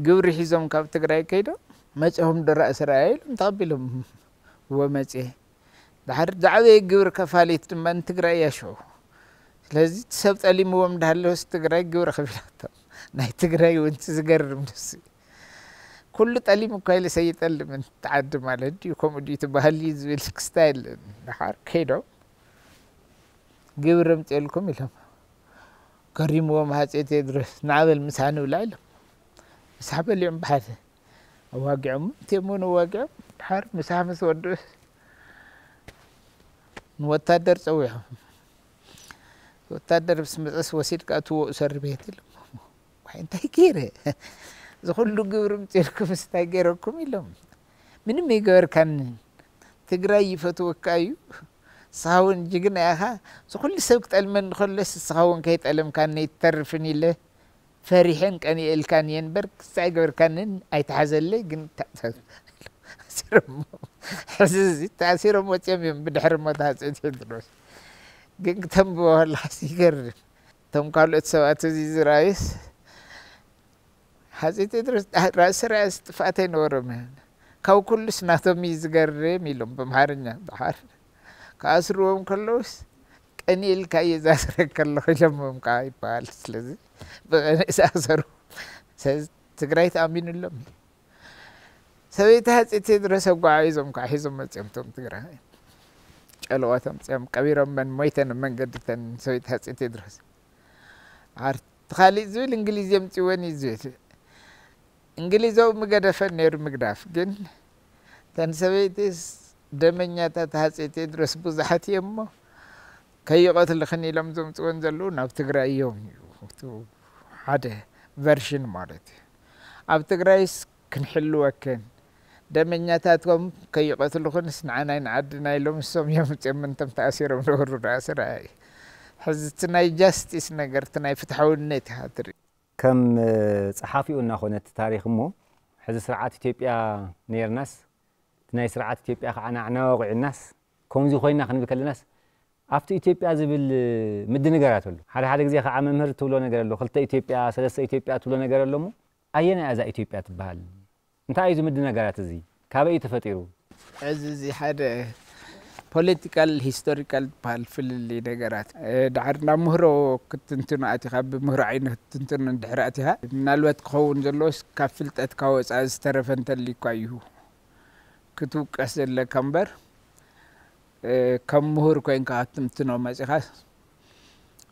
ግብሪ ሒዞም ካብ ትግራይ ከይዶም መፂኦም ዶ ራእሲ ራእያ ኢሎም ተቐቢሎም ወመፅኤ ድሓር ዝዓበየ ግብሪ ከፋሊት ድማ ንትግራይ እያ ሽዑ። ስለዚ እቲ ሰብ ጠሊምዎም እንዳሃለወስ ትግራይ ግብሪ ከፊላቶም። ናይ ትግራይ እውን እቲ ዝገርም ንሱ እዩ። ኩሉ ጠሊሙ እኳ ኢለ ሰይጠልም እቲ ዓዲ ማለት ድዩ ከምኡ ድዩ ትበሃል እዩ ዝብል ክስታ የለን። ድሓር ከይዶም ግብሪ ኣምፅኤልኩም ኢሎም ገሪምዎም ሃፀይ ቴድሮስ ንዓበል ምሳሕ ንብላ ኢሎም ምሳሕ በሊዖም ብሓደ ኣዋጊዖም እቴሞን ኣዋጊዖም ድሓር ምሳሕ ምስ ወድኡስ ንወታደር ፀዊዖም ወታደር ምስ መፀስ ወሲድካ እትዎ እሰር ቤት ኢሎም ዋይ እንታይ ገይረ እዚ ኩሉ ግብሪ ምፅልኩም እንታይ ገይረኩም ኢሎም ምንም ኣይገበርካኒ ትግራይ ይፈትወካ እዩ ንስኻ እውን ጅግና ኢኻ እዚ ኩሉ ሰብ ክጠልመኒ ከሎስ ንስኻ እውን ከይጠለምካኒ ኣይትተርፍን ኢለ ፈሪሐን ቀኒኤልካን እየ እምበር ክሳይ ገበርካንን ኣይትሓዘለይ ግን ተኣሲሮሞ ሕዚ እዚ ተኣሲሮም ወፂኦም እዮም ብድሕሪ ሞት ሃፀይ ቴድሮስ ግን ክተንብቦ ከለካስ ይገርም እቶም ካልኦት ሰባት እዚ ዝረኣዩስ ሃፀይ ቴድሮስ ራእሲ ራእሲ ጥፍኣት ኣይነበሮም ካብ ኩሉስ ናቶም እዩ ዝገርም ኢሎም ብምሓርኛ ድሓር ክኣስርዎም ከለውስ ቀኒኤልካ እየ ዝኣስረካ ኣለኹ ኢሎሞም ከዓ ይበሃል ስለዚ ብቐኒ ዝኣሰሩ ትግራይ ተኣሚኑሎም እዩ ሰበይቲ ሃፀይ ቴድሮስ ኣጓዓዒዞም ከዓ ሒዞም መፅኦም እቶም ትግራይ ጨለዋት ኣምፅኦም ቀቢሮመን ሞይተን ኣብ መንገዲ እተን ሰበይቲ ሃፀይ ቴድሮስ ዓር እቲ ካሊእ ዝብል እንግሊዝ የምፅወን እዩ ዝብል እንግሊዛዊ ምገደፈን ነይሩ ምግዳፍ ግን እተን ሰበይትስ ደመኛታት ሃፀይ ቴድሮስ ብዙሓት እዮም እሞ ከይቐትልኽን ኢሎም ዘምፅወን ዘለዉ ናብ ትግራይ እዮም እዩ እቲ ሓደ ቨርሽን ማለት እዩ ኣብ ትግራይስ ክንሕልወክን ደመኛታትኩም ከይቐትልኹንስ ንዓናይ ንዓድና ኢሎም እሶም እዮም ምፅኦም እንቶም ተኣሲሮም ነበሩ ዳኣ ስራይ ሕዚ እቲ ናይ ጃስቲስ ነገር እቲ ናይ ፍትሓውነት ኢኻ ትርኢ ከም ፀሓፊኡ እናኾነ እቲ ታሪክ እሞ ሕዚ ስርዓት ኢትዮጵያ ነይርናስ እቲ ናይ ስርዓት ኢትዮጵያ ከዓ ናዕና ወቂዑናስ ከምዚ ኮይና ክንብል ከለናስ ኣብቲ ኢትዮጵያ ዝብል ምድንጋራት ኣሎ ሓደ ሓደ ግዜ ከዓ መምህር ትብሎ ነገር ኣሎ ክልተ ኢትዮጵያ ሰለስተ ኢትዮጵያ ትብሎ ነገር ኣሎ እሞ ኣየናይ እዛ ኢትዮጵያ ትበሃል እንታይ እዩ ዝምዲ ነገራት እዚ ካበይ እዩ ተፈጢሩ እዚ እዚ ሓደ ፖለቲካል ሂስቶሪካል ዝበሃል ፍልልይ ነገራት፣ እ፣ ድሓር ናብ ምህሮ ክትትንትኖ ኣቲኻ፣ ብምህሮ ዓይኒ ክትትንትኖ እንድሕር ኣቲኻ፣ ምናልባት ክኸውን ዘለዎስ ካብ ፍልጠትካ ወፃኢ ዝተረፈ እንተልዩ እኳ እዩ ክትውቀስ ዘለካ እምበር፣ እ፣ ከም ምሁር ኮይንካ ክትትንትኖ መፂኻ፣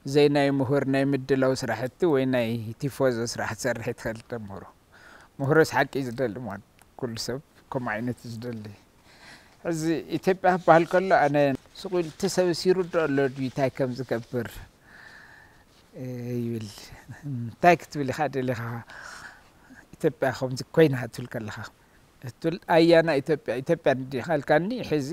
ዘይ ናይ ምሁር ናይ ምድላው ስራሕቲ ወይ ናይ ቲፎዞ ስራሕ ትሰርሕ ትኽእል ተምህሮ። ምሁርስ ሓቂ እዩ ዝደሊ ማለት፣ ኩሉ ሰብ ከምኡ ዓይነት እዩ ዝደሊ። ሕዚ ኢትዮጵያ ክበሃል ከሎ ኣነ ስቕ ኢሉ እቲ ሰብስ ይርድኦ ኣሎ ድዩ እንታይ ከም ዝገብር፣ እ፣ ይብል። እንታይ ክትብል ኢኻ ደሊኻ ኢትዮጵያ ከምዚ ኮይና ክትብል ከለኻ? እትብል ኣያና ኢትዮጵያ፣ ኢትዮጵያ እንዲኻ ኢልካኒ ሕዚ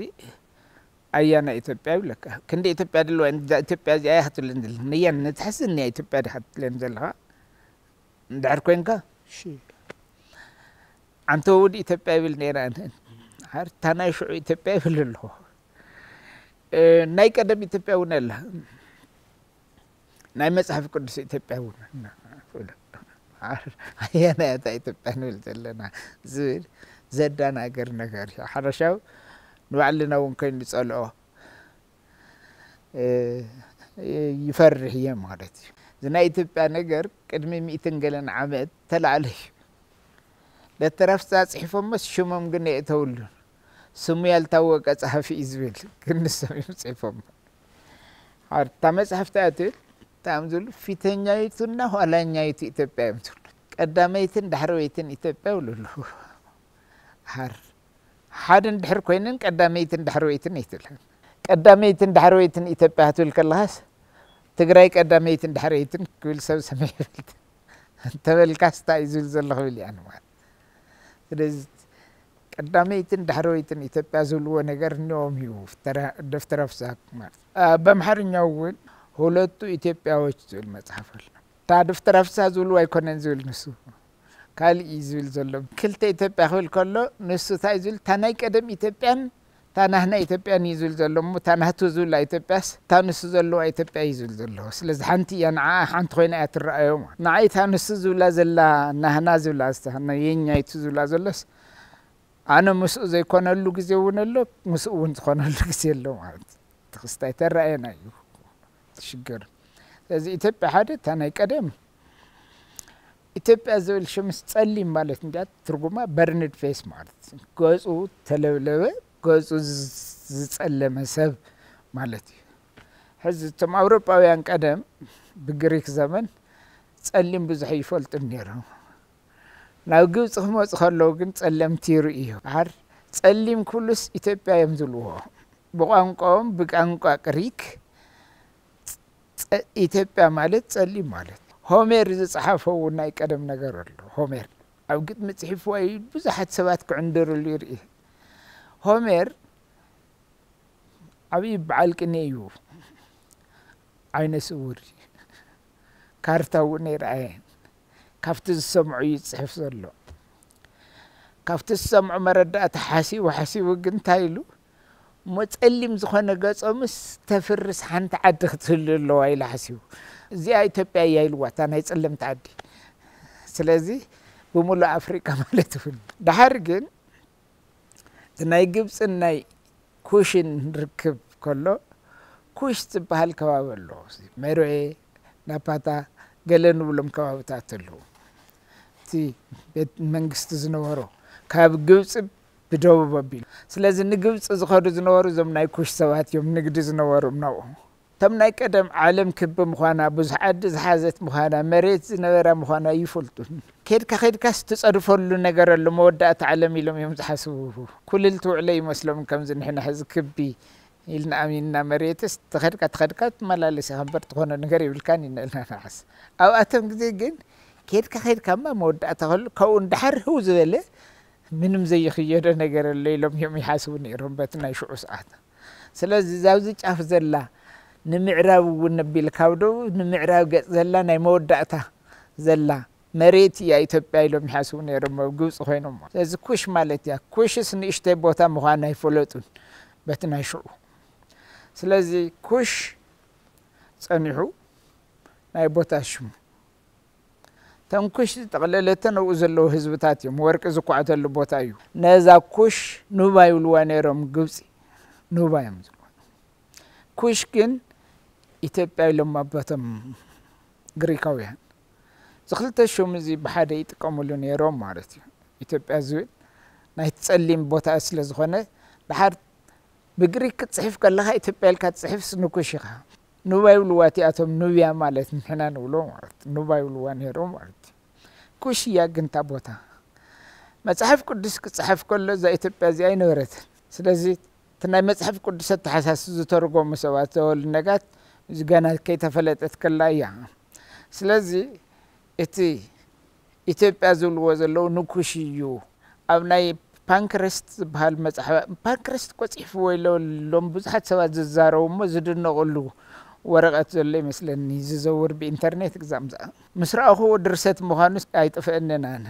ኣያና ኢትዮጵያ ይብለካ። ክንዲ ኢትዮጵያ ድልዋ እንዳ ኢትዮጵያ እዚኣ እያ ክትብለኒ ዘላ። ነያን ነትሕስ እኒኣ ኢትዮጵያ ዲኻ ትብለኒ ዘለኻ? እንድሕር ኮይንካ፣ እሺ። ኣንተ ውድ ኢትዮጵያ ይብል ነይረ ኣነ። ሓር እታ ናይ ሽዑ ኢትዮጵያ ይብል ኣለኹ። እ፣ ናይ ቀደም ኢትዮጵያ እውን ኣላ። ናይ መጽሓፍ ቅዱስ ኢትዮጵያ እውን ኣላ። ኣየናይ እታ ኢትዮጵያ ንብል ዘለና ዝብል ዘዳናግር ነገር እዩ። ሓረሻው ንባዕልና እውን ኮይኑ ዝጸልኦ፣ እ፣ ይፈርሕ እየ ማለት እዩ። እዚ ናይ ኢትዮጵያ ነገር ቅድሚ ሚእትን ገለን ዓመት ተላዕለ እዩ። ደተረፍሳ ጽሒፎሞስ ሽሞም ግን የእተውሉን። ስሙ ያልታወቀ ጸሓፊ እዩ ዝብል፣ ግን ንሶም እዮም ጽሒፎሞ። ሓር እታ መጽሓፍ እታ እትብል፣ እንታይ እዮም ዝብሉ? ፊተኛይቱና ኋላኛይቱ ኢትዮጵያ እዮም ዝብሉ። ቀዳመይትን ዳሕረወይትን ኢትዮጵያ ይብሉ ኣለዉ። ሓር ሓደ እንድሕር ኮይነን ቀዳመይትን ዳሕረወይትን ኣይትብልን። ቀዳመይትን ዳሕረወይትን ኢትዮጵያ ክትብል ከለኻስ፣ ትግራይ ቀዳመይትን ዳሕረወይትን ክብል ሰብ ሰሚዐ ይፈልጥ። እንተበልካስ እንታይ እዩ ዝብል ዘሎ ክብል እያ ንማለት። ስለዚ ቀዳመይትን ዳሕረወይትን ኢትዮጵያ ዝብልዎ ነገር እኒኦም እዩ። ፍተረ-፣ ደፍተረ ፍስሃ ማለት። አ፣ በምሓርኛው እውን ሁለቱ ኢትዮጵያዎች ዝብል መጽሓፍ ኣሎ። እታ ደፍተረ ፍስሃ ዝብልዎ ኣይኮነን ዝብል ንሱ። ካልእ እዩ ዝብል ዘሎ። ክልተ ኢትዮጵያ ክብል ከሎ ንሱ እንታይ እዩ ዝብል? እታ ናይ ቀደም ኢትዮጵያን እታ ናህና ኢትዮጵያን እዩ ዝብል ዘሎ። እሞ እታ ናህቱ ዝብላ ኢትዮጵያስ እታ ንሱ ዘለዋ ኢትዮጵያ እዩ ዝብል ዘሎ። ስለዚ ሓንቲ እያ፣ ንዓ ሓንቲ ኮይና እያ ትረኣዮ ማለት። ንዓይ እታ ንሱ ዝብላ ዘላ፣ ናህና ዝብላ፣ እታ የኛይቱ ዝብላ ዘሎስ፣ ኣነ ምስኡ ዘይኮነሉ ግዜ እውን ኣሎ፣ ምስኡ እውን ዝኾነሉ ግዜ ኣሎ ማለት። እቲ ክስታይ ተረኣየና እዩ ትሽገር። ስለዚ ኢትዮጵያ ሓደ፣ እታ ናይ ቀደም ኢትዮጵያ ዝብል ሽምስ ጸሊም ማለት እንዲያ ትርጉማ በርንድ ፌስ ማለት እዩ። ገጹ ተለብለበ፣ ገጹ ዝ-፣ ዝጸለመ ሰብ ማለት እዩ። ሕዚ እቶም ኣውሮጳውያን ቀደም ብግሪክ ዘመን ጸሊም ብዙሕ ይፈልጡ ነይሮም። ናብ ግብጺ ክመጹ ከለዉ ግን ጸለምቲ ይርእዩ። ሓር ጸሊም ኩሉስ ኢትዮጵያ እዮም ዝብልዎ። ብቋንቋኦም፣ ብቋንቋ ግሪክ ጸ-፣ ኢትዮጵያ ማለት ጸሊም ማለት። ሆሜር ዝጸሓፎ እውን ናይ ቀደም ነገር ኣሎ። ሆሜር ኣብ ግጥሚ ጽሒፍዎ እዩ፣ ብዙሓት ሰባት ክዕንድርሉ ይርኢ። ሆሜር ዓብዪ በዓል ቅኔ እዩ። ዓይነ ስውር እዩ። ካርታ እውን ኣይረኣየን። ካብቲ ዝሰምዖ እዩ ዝጽሕፍ ዘሎ። ካብቲ ዝሰምዖ መረዳእታ ሓሲቡ ሓሲቡ ግን እንታይ ኢሉ፣ እሞ ጸሊም ዝኾነ ገጾምስ ተፍርስ ሓንቲ ዓዲ ክትህሉ ኣለዋ ኢሉ ሓሲቡ። እዚኣ ኢትዮጵያ እያ ኢልዋ፣ እታ ናይ ጸለምቲ ዓዲ። ስለዚ ብምሉእ ኣፍሪቃ ማለት እውን። ደሓር ግን እቲ ናይ ግብጽን ናይ ኩሽን ርክብ ከሎ፣ ኩሽ ዝበሃል ከባቢ ኣሎ። መሮኤ፣ ናፓታ፣ ገለ ንብሎም ከባብታት ኣለዉ። እቲ ቤት መንግስቲ ዝነበሮ ካብ ግብጺ ብደቡብ ኣቢሉ። ስለዚ ንግብጺ ዝኸዱ ዝነበሩ እዞም ናይ ኩሽ ሰባት እዮም፣ ንግዲ ዝነበሮም ናብኡ። እቶም ናይ ቀደም ዓለም ክቢ ምዃና፣ ብዙሕ ዓዲ ዝሓዘት ምዃና፣ መሬት ዝነበራ ምዃና ይፈልጡ። ከድካ ከድካስ ትጸድፈሉ ነገር ኣሎ፣ መወዳእታ ዓለም ኢሎም እዮም ዝሓስቡ። ኩልል ትውዕለ ይመስሎም፣ ከምዚ ንሕና ሕዚ ክቢ ኢልና ኣሚንና መሬትስ ተኸድካ ተኸድካ ትመላለስ ኢኻ እምበር ትኾኖ ነገር የብልካን ኢና ኢልና ንሓስ። ኣብኣቶም ግዜ ግን ከድካ ከድካማ መወዳእታ ከሎ ካብኡ ንደሓር ህው ዝበለ ምንም ዘይኽየዶ ነገር ኣሎ ኢሎም እዮም ይሓስቡ ነይሮም በቲ ናይ ሽዑ ሰዓት። ስለዚ እዛ ኣብዚ ጫፍ ዘላ ንምዕራብ እውን ኣቢልካ ኣብ ደቡብ ንምዕራብ ገጽ ዘላ ናይ መወዳእታ ዘላ መሬት እያ ኢትዮጵያ ኢሎም ይሓስቡ ነይሮም ኣብ ግብጺ ኮይኖም። ስለዚ ኩሽ ማለት እያ። ኩሽስ ንእሽተይ ቦታ ምዃና ኣይፈለጡን በቲ ናይ ሽዑ። ስለዚ ኩሽ ጸኒሑ ናይ ቦታ ሽሙ። እተን ኩሽ ዝጠቕለለተን ኣብኡ ዘለዉ ህዝብታት እዮም። ወርቂ ዝኳዕተሉ ቦታ እዩ። ነዛ ኩሽ ኑባ ይብልዋ ነይሮም ግብጺ። ኑባ እዮም ዝብልዋ። ኩሽ ግን ኢትዮጵያ ኢሎም ኣቦቶም ግሪካውያን። እዚ ክልተ ሽም እዚ ብሓደ ይጥቀምሉ ነይሮም ማለት እዩ። ኢትዮጵያ ዝብል ናይ ጸሊም ቦታ ስለ ዝኾነ፣ ድሓር ብግሪክ ክትጽሕፍ ከለኻ ኢትዮጵያ ኢልካ ትጽሕፍስ ንኩሽ ኢኻ። ኑባ ይብልዋ እቲኣቶም፣ ኑብያ ማለት ንሕና ንብሎ ማለት ኑባ ይብልዋ ነይሮም ማለት እዩ። ኩሽ እያ ግን እታ ቦታ። መጽሓፍ ቅዱስ ክጽሓፍ ከሎ እዛ ኢትዮጵያ እዚኣ ኣይነበረትን። ስለዚ እቲ ናይ መጽሓፍ ቅዱስ ኣተሓሳስ ዝተርጎሙ ሰባት ዘወሉ ነጋት እዚ ገና ከይተፈለጠት ከላ እያ። ስለዚ እቲ ኢትዮጵያ ዝብልዎ ዘለዉ ንኩሽ እዩ። ኣብ ናይ ፓንክረስት ዝበሃል መጽሓፍ፣ ፓንክረስት እኮ ጽሒፍዎ ኢሎ ሎም ብዙሓት ሰባት ዝዛረቡ እሞ ዝድነቕሉ ወረቐት ዘሎ ይመስለኒ፣ ዝዘውር ብኢንተርኔት ግዛም ዝኣ-፣ ምስ ረኣኹዎ ድርሰት ምዃኑ ኣይጥፍእንን ኣነ።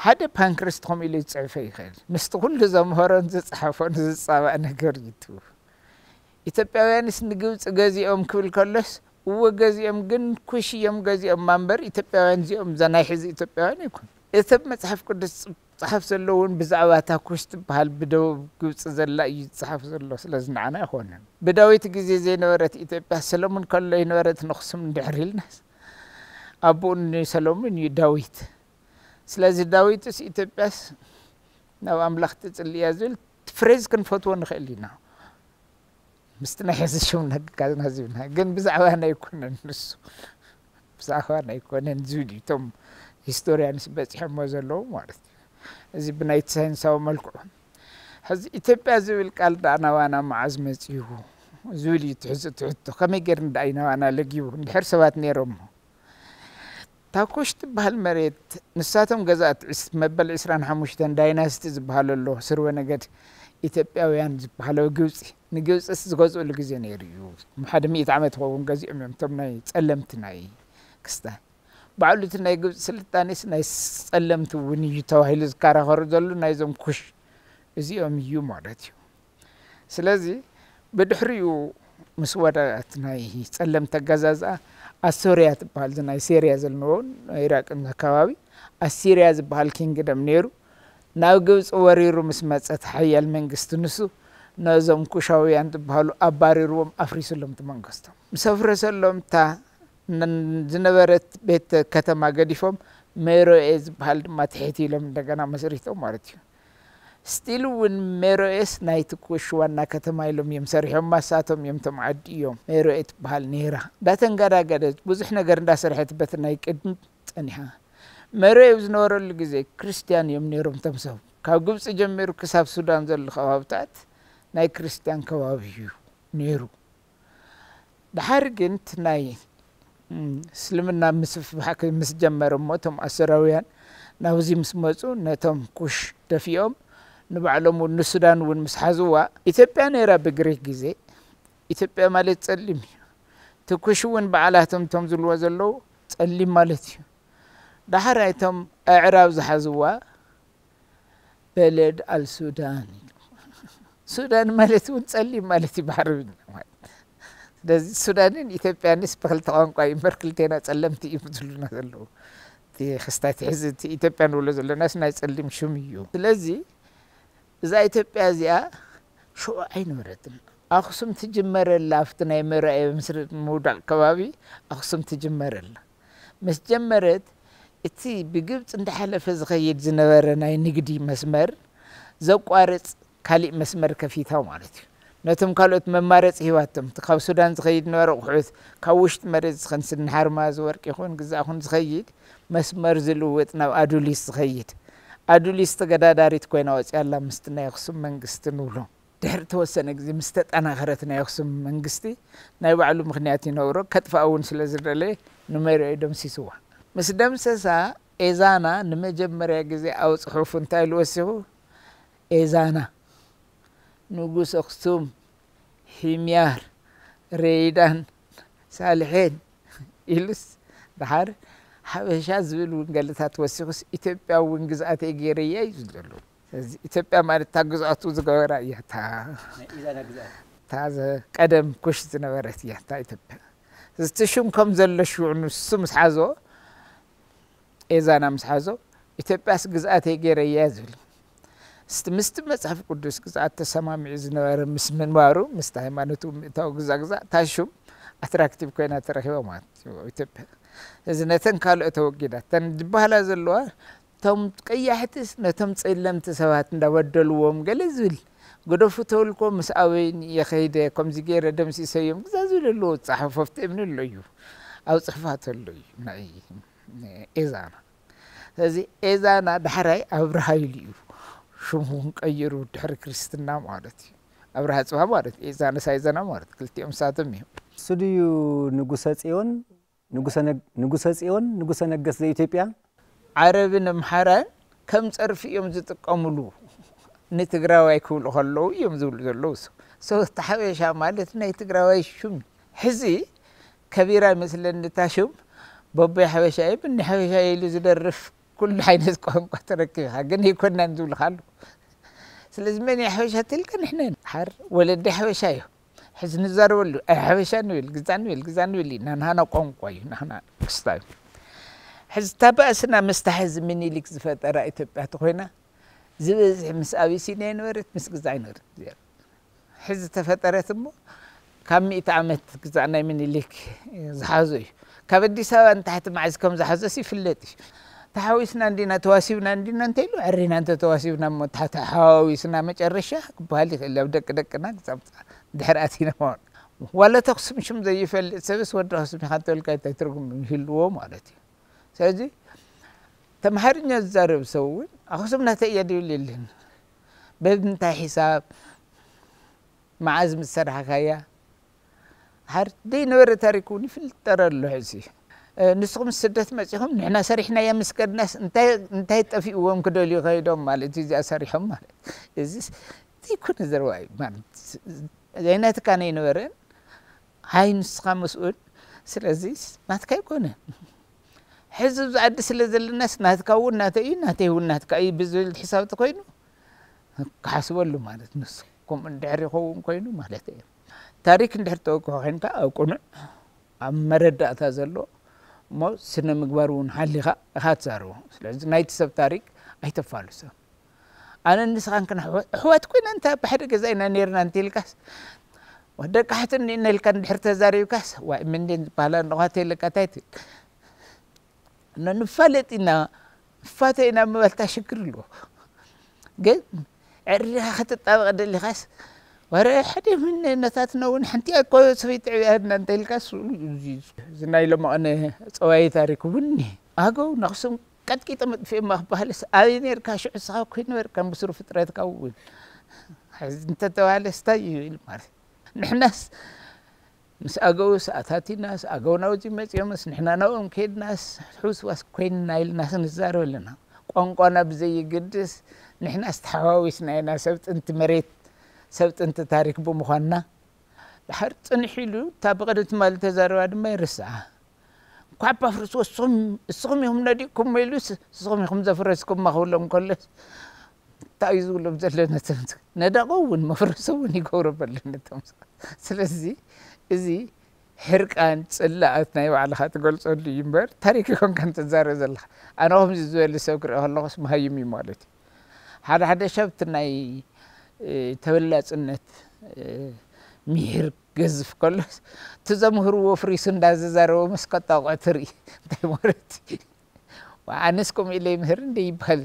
ሓደ ፓንክረስት ከምኡ ኢሉ ዝጽሕፈ ይኽእል። ምስቲ ኩሉ ዘምሃሮን ዝጸሓፎን ዝጻባእ ነገር እዩ። ኢትዮጵያውያንስ ንግብጺ ገዚኦም ክብል ከሎስ፣ እወ ገዚኦም፣ ግን ኩሽ እዮም ገዚኦም እምበር ኢትዮጵያውያን እዚኦም እዛ ናይ ሕዚ ኢትዮጵያውያን ኣይኮኑ። እቲ ኣብ መጽሓፍ ቅዱስ ጸሓፍ ዘሎ እውን ብዛዕባ እታ ኩሽ ትበሃል ብደቡብ ግብጺ ዘላ እዩ ዝጸሓፍ ዘሎ። ስለዚ ንዓና ኣይኮነን። ብዳዊት ግዜ ዘይነበረት ኢትዮጵያ ሰለሙን ከሎ ይነበረት ንኽሱም እንድሕር ኢልናስ፣ ኣቦኡ ንሰለሙን እዩ ዳዊት። ስለዚ ዳዊትስ ኢትዮጵያስ ናብ ኣምላኽ ትጽሊ እያ ዝብል ፍሬዝ ክንፈትዎ ንኽእል ኢና። ምስቲ ናይ ሕዚ ሽም ነግካዝና ዝብልና ግን ብዛዕባና ኣይኮነን ንሱ። ብዛዕባና ኣይኮነን ዝብል እዩ። እቶም ሂስቶርያንስ በጺሖሞ ዘለዉ ማለት እዩ። እዚ ብናይቲ ሳይንሳዊ መልክዑ። ሕዚ ኢትዮጵያ ዝብል ቃል ደኣ ናባና መዓዝ መጺኡ ዝብል እዩ ትሕዚ ትሕቶ። ከመይ ጌርና ደኣ እዩ ናባና ለጊቡ? እንድሕር ሰባት ነይሮሞ። እታ ኩሽ ትበሃል መሬት ንሳቶም ገዛእቲ ዕስ-፣ መበል ዕስራን ሓሙሽተን ዳይናስቲ ዝበሃሉ ኣሎ፣ ስርወ ነገድ ኢትዮጵያውያን ዝበሃሉ ግብጺ። ንግብጺስ ዝገዝኡሉ ግዜ ነይሩ እዩ። ሓደ ሚእቲ ዓመት ይኸውን ገዚኦም እዮም፣ እቶም ናይ ጸለምቲ ናይ ክስታይ። ባዕሉ እቲ ናይ ግብጺ ስልጣኔስ ናይ ጸለምቲ እውን እዩ ተባሂሉ ዝከራኸሩ ዘሎ ናይዞም ኩሽ እዚኦም እዩ ማለት እዩ። ስለዚ ብድሕሪኡ ምስ ወደቐት ናይ ጸለምቲ ኣገዛዝኣ ኣሶርያ ትበሃል፣ እዚ ናይ ሴርያ ዘለንዎ ናይ ኢራቅን ከባቢ ኣሲርያ ዝበሃል ኪንግደም ነይሩ። ናብ ግብጺ ወሪሩ ምስ መጸ እቲ ሓያል መንግስቲ ንሱ ነዞም ኩሻውያን ዝበሃሉ ኣባሪርዎም ኣፍሪስሎም እቲ መንግስቶም። ምስ ኣፍረሰሎም እታ ን-፣ ዝነበረት ቤት ከተማ ገዲፎም ሜሮኤ ዝበሃል ድማ ትሕት ኢሎም እንደገና መስሪቶም ማለት እዩ። ስቲል እውን ሜሮኤስ ናይቲ ኩሽ ዋና ከተማ ኢሎም እዮም ሰሪሖም። ማሳቶም እዮም፣ እቶም ዓዲ እዮም። ሜሮኤ ትበሃል ነይራ። እንዳተንገዳገደት ብዙሕ ነገር እንዳሰርሐት በቲ ናይ ቅድሚ ጸኒሓ። ሜሮኤ ኣብ ዝነበረሉ ግዜ ክርስትያን እዮም ነይሮም እቶም ሰብ። ካብ ግብጺ ጀሚሩ ክሳብ ሱዳን ዘሎ ከባብታት ናይ ክርስትያን ከባቢ እዩ ነይሩ። ድሓር ግን እቲ ናይ፣ እም፣ እስልምና ምስፍሕፋሕ ምስ ጀመረ እሞ እቶም ኣሶራውያን ናብዚ ምስ መጹ ነቶም ኩሽ ደፊኦም ንባዕሎም እውን ንሱዳን እውን ምስ ሓዝዋ፣ ኢትዮጵያ ነይራ ብግሪክ ግዜ። ኢትዮጵያ ማለት ጸሊም እዩ። እቲ ኩሽ እውን በዓላቶም እቶም ዝብልዎ ዘለዉ ጸሊም ማለት እዩ። ዳሕራይ እቶም ኣዕራብ ዝሓዝዋ በለድ ኣልሱዳን እዩ። ሱዳን ማለት እውን ጸሊም ማለት እዩ ብዓረብኛ ማለት። ስለዚ ሱዳንን ኢትዮጵያንስ ብክልተ ቋንቋ እዩ እምበር ክልቴና ጸለምቲ እዮም ዝብሉና ዘለዉ። እቲ ክስታይ ሕዚ እቲ ኢትዮጵያ ንብሎ ዘለናስ ናይ ጸሊም ሽም እዩ። ስለዚ እዛ ኢትዮጵያ እዚኣ ሽዑ ኣይነበረትን። ኣኽሱም ትጅመረላ፣ ኣብቲ ናይ መራኤ ምስሪ ምውዳቕ ከባቢ ኣኽሱም ትጅመረላ። ምስ ጀመረት፣ እቲ ብግብጺ እንዳሓለፈ ዝኸይድ ዝነበረ ናይ ንግዲ መስመር ዘቋርጽ ካሊእ መስመር ከፊታ ማለት እዩ። ነቶም ካልኦት መማረጺ ሂባቶም። እቲ ካብ ሱዳን ዝኸይድ ነበረ ኣቑሑት፣ ካብ ውሽጢ መሬት ዝኸን ስኒ ሓርማዝ ወርቂ ይኹን ግዛእ ይኹን ዝኸይድ መስመር ዝልውጥ ናብ ኣዱሊስ ዝኸይድ። ኣዱሊስ ተገዳዳሪት ኮይና ወጺኣላ ምስቲ ናይ ኣኽሱም መንግስቲ ንብሎ። ድሕሪ ተወሰነ ግዜ ምስ ተጠናኸረት ናይ ኣኽሱም መንግስቲ ናይ ባዕሉ ምኽንያት ይነብሮ፣ ከጥፍኣ እውን ስለ ዝደለየ ንመሪኦ ደምሲስዋ። ምስ ደምሰሳ ኤዛና ንመጀመርያ ግዜ ኣብ ጽሑፉ እንታይ ኢሉ ወሲኹ? ኤዛና ንጉስ ኣኽሱም፣ ሂምያር፣ ሬይዳን፣ ሳልሔን ኢሉስ ደሓር ሓበሻ ዝብል እውን ገለታት ወሲኹስ ኢትዮጵያ እውን ግዝኣተይ ገይረያ እዩ ዝደሉ። ስለዚ ኢትዮጵያ ማለት እታ ግዝኣቱ ዝገበራ እያ። እታ ናይ ኢዛና ግዝኣት። እታ ዘ-፣ ቀደም ኩሽ ዝነበረት እያ እታ ኢትዮጵያ። እዚ ሽም ከም ዘሎ ሽዑ ንሱ ምስ ሓዞ፣ ኤዛና ምስ ሓዞ፣ ኢትዮጵያስ ግዝኣተይ ገይረያ ዝብል። ምስቲ ምስቲ መጽሓፍ ቅዱስ ግዝኣት ተሰማሚዑ ዝነበረ ምስ ምንባሩ ምስቲ ሃይማኖቱ ምእታው ግዛ ግዛ እታ ሹም ኣትራክቲቭ ኮይና ተረኺባ ማለት እዩ ኢትዮጵያ። እዚ ነተን ካልኦት ተወጊዳ እተን ዝበሃላ ዘለዋ እቶም ቀያሕትስ ነቶም ጸለምቲ ሰባት እንዳበደልዎም ገለ ዝብል ግደፉ ተብልኮ ምስ ኣበይን እየ ከይደ ከምዚ ገይረ ደምሲሰዮም ግዛ ዝብል ኣለዎ። ጸሓፎ ኣብቲ እምኒ ኣሎ እዩ ኣብ ጽሕፋት ኣሎ እዩ ናይ ኤዛና። ስለዚ ኤዛና ዳሕራይ ኣብርሃ ኢሉ እዩ ሽሙ ቀይሩ ድሕሪ ክርስትና ማለት እዩ። ኣብርሃ ጽባ ማለት እዩ። ኤዛና ሳይዘና ማለት ክልቲኦም ሳቶም እዮም። እሱ ድዩ ንጉሰ ጽዮን ንጉሰ ነግ- ንጉሰ ጽዮን ንጉሰ ነገስ ዘኢትዮጵያ ዓረብን ኣምሓራን ከም ጸርፊ እዮም ዝጥቀምሉ። ንትግራዋይ ክብሉ ከለዉ እዮም ዝብሉ ዘለዉ። ሶ እቲ ሓበሻ ማለት ናይ ትግራዋይ ሹም እዩ። ሕዚ ከቢራ ይመስለኒ እታ ሹም በቦይ ሓበሻ እየ ብኒ ሓበሻ እየ ኢሉ ዝደርፍ ኩሉ ዓይነት ቋንቋ ተረኪብካ ግን ኣይኮናን ዝብሉካ ኣለዉ። ስለዚ መን እዩ ሓበሻ ተልካ ንሕና ኢና። ሓር ወለዲ ሓበሻ እዮም። ሕዚ ንዛረበሉ ኣይ ሓበሻ ንብል ግዛ ንብል ግዛ ንብል ኢና። ናህና ቋንቋ እዩ ናህና ክስታ እዩ። ሕዚ እታ ባእስና ምስታ ሕዚ ምኒልክ ዝፈጠራ ኢትዮጵያ ተኮይና ዝበዝሕ ምስ ኣቢሲንያ ይነበረት ምስ ግዛ ይነበረት። ሕዚ ተፈጠረት እሞ ካብ ሚእቲ ዓመት ግዛእ ናይ ምኒልክ ዝሓዞ እዩ። ካብ ኣዲስ ኣበባ ንታሕቲ መዓዝ ከም ዝሓዘስ ይፍለጥ እዩ። ተሓዊስና እንዲና ተዋሲብና እንዲና እንተ ኢሉ ዕሪና እንተ ተዋሲብና እሞ ታሕቲ ሓዋዊስና መጨረሻ ክበሃል ይኽእል ኣብ ደቂ ደቅና ክጻብጻ ድሕሪ ኣቲና ማለት ዋላ ተኽስም ሽም ዘይፈልጥ ሰብስ ወዲ ኣኽስም ኢኻ እንተበልካ እንታይ ትርጉም ይህልዎ ማለት እዩ። ስለዚ ተምሃርኛ ዝዛረብ ሰብ እውን ኣኽስም ናተይ እያ ድብል የለን። በምንታይ ሒሳብ መዓዝ ምስ ሰራሕካያ ሓር ደይ ነበረ ታሪክ እውን ይፍልጠረ ኣሎ ሕዚ ንስኹም ስደት መፂኹም ንሕና ሰሪሕናያ ምስ ከድናስ እንታይ ጠፊእዎም ክደልዩ ከይዶም ማለት እዩ እዚኣ ሰሪሖም ማለት እዚ ዘይኮነ ዘረባ እዩ ማለት ዘይናትካ ነይነበረን ሃይ ንስኻ መስኡል ስለዚ ናትካ ኣይኮነን ሕዚ ኣብዚ ዓዲ ስለ ዘለናስ ናትካ እውን ናተይ እዩ ናተይ እውን ናትካ እዩ ብዝብል ሕሳብ ተኮይኑ ክሓስበሉ ማለት ንሱ ከምኡ እንድሕር ይኸውን ኮይኑ ማለት እየ ታሪክ እንድሕር ተወቅሑ ኮይንካ ኣብ ቅኑዕ ኣብ መረዳእታ ዘሎ እሞ ስነ ምግባር እውን ሓሊኻ ኢኻ ትዛረቦ ስለዚ ናይቲ ሰብ ታሪክ ኣይተፋልሶ ኣነ ንስኻን ክነሕወት ኣሕዋት ኮይና እንተ ብሓደ ገዛ ኢና ነርና እንተ ኢልካስ ደቂ ሓትኒ ኢነ ኢልካ እንድሕር ተዛሪብካስ ዋይ ምንድን ዝበሃላ ኣለኳ ተይለካ እንታይ ትብል ንፋለጥ ኢና ንፋተ ኢና ምባልታ ሽግር ኣለዎ ግን ዕሪኻ ክትጣበቕ ደሊኻስ ወረ ሓደ ምን ነታትና እውን ሓንቲ እኮ ሰበይቲ ዕብያትና እንተ ኢልካ እዚ ናይ ሎማቕነ ፀዋይ ታሪክ እውን ኣገው ነኽስም ቀጥቂጠ መጥፍኤማ ክበሃልስ ኣበይ ነርካ ሽዑ ስኻ ኮይ ነበርካ ምስሩ ፍጥረትካ እውን እንተተባሃለስ እንታይ እዩ ኢሉ ማለት ንሕናስ ምስ ኣገውስ ኣታቲናስ ኣገው ናውዚ መፅኦምስ ንሕና ናብኦም ከይድናስ ሕውስዋስ ኮይንና ኢልናስ ንዛረብ ኣለና ቋንቋና ብዘይግድስ ንሕናስ ተሓዋዊስና ኢና ሰብ ጥንቲ መሬት ሰብ ጥንቲ ታሪክ ብምዃንና ድሓር ፅንሕ ኢሉ እታ ብቕድሚ ትማሊ ተዛረባ ድማ ይርስዓ እንኳዕ ባፍርስ ወስኹም እስኹም ኢኹም ነዲቕኩም ኢሉስ እስኹም ኢኹም ዘፍረስኩም ክብሎም ከሎስ እንታይ እዩ ዝብሎም ዘሎ ነቶም ነዳቑ እውን መፍረሶ እውን ይገብሮ በሎ ነቶም ስለዚ እዚ ሕርቃን ጽላኣት ናይ ባዕልኻ ትገልጸሉ እዩ እምበር ታሪክ ይኮንካ ትዛረብ ዘለኻ ኣነ ከምዚ ዝበለ ሰብ ክርኢ ከለኹስ መሃይም እዩ ማለት እዩ ሓደ ሓደ ሰብ እቲ ናይ ተበላጽነት ምሂር ገዝፍ ከሎስ እቲ ዘምህርዎ ፍሪሱ እንዳዘዛረቦ ምስ ከጣቕዖ ትርኢ እንታይ ማለት እዩ ኣነስ ከምኡ ኢለ ይምህር እንደ ይበሃል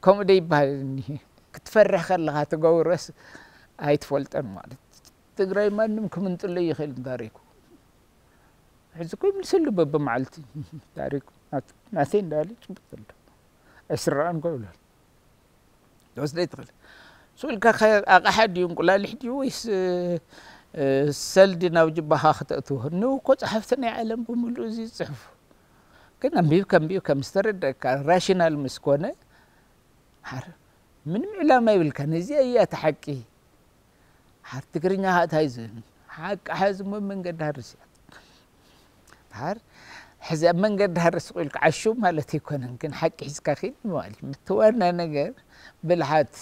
ከምኡ ዶ ይበሃል ክትፈርሕ ከለኻ ትገብሮስ ኣይትፈልጦን ማለት ትግራይ ማንም ክምንጥሎ ይኽእል ታሪኩ ሕዚ እኮ ይምልሰሉ በብመዓልቲ ታሪኩ ናተይ እንዳበለ ይጭብጥ ዘሎ ኣይስረቐን እኮ ይብላል ትወስደ ትኽእል ስኡልካ ኣቕሓ ድዩ እንቁላሊሕ ድዩ ወይስ ሰልዲ ናብ ጅባኻ ክተእትዎ ንው እኮ ጸሓፍቲ ናይ ዓለም ብምሉእ እዚ ዝጽሕፉ ግን ኣንቢብካ ኣንቢብካ ምስ ተረደእካ ራሽናል ምስ ኮነ ሓር ምንም ዕላማ ይብልካ ነዚኣ እያ እቲ ሓቂ ሓር ትግርኛ ከዓ እንታይ ዝብል ሓቂ ሓዚ እሞ መንገዲ ሃርስ እያ ሓር ሕዚ ኣብ መንገዲ ሃርስ ቁኢልካ ዓሹ ማለት ኣይኮነን ግን ሓቂ ሒዝካ ኪድ ምባል እዩ እቲ ዋና ነገር ብልሓት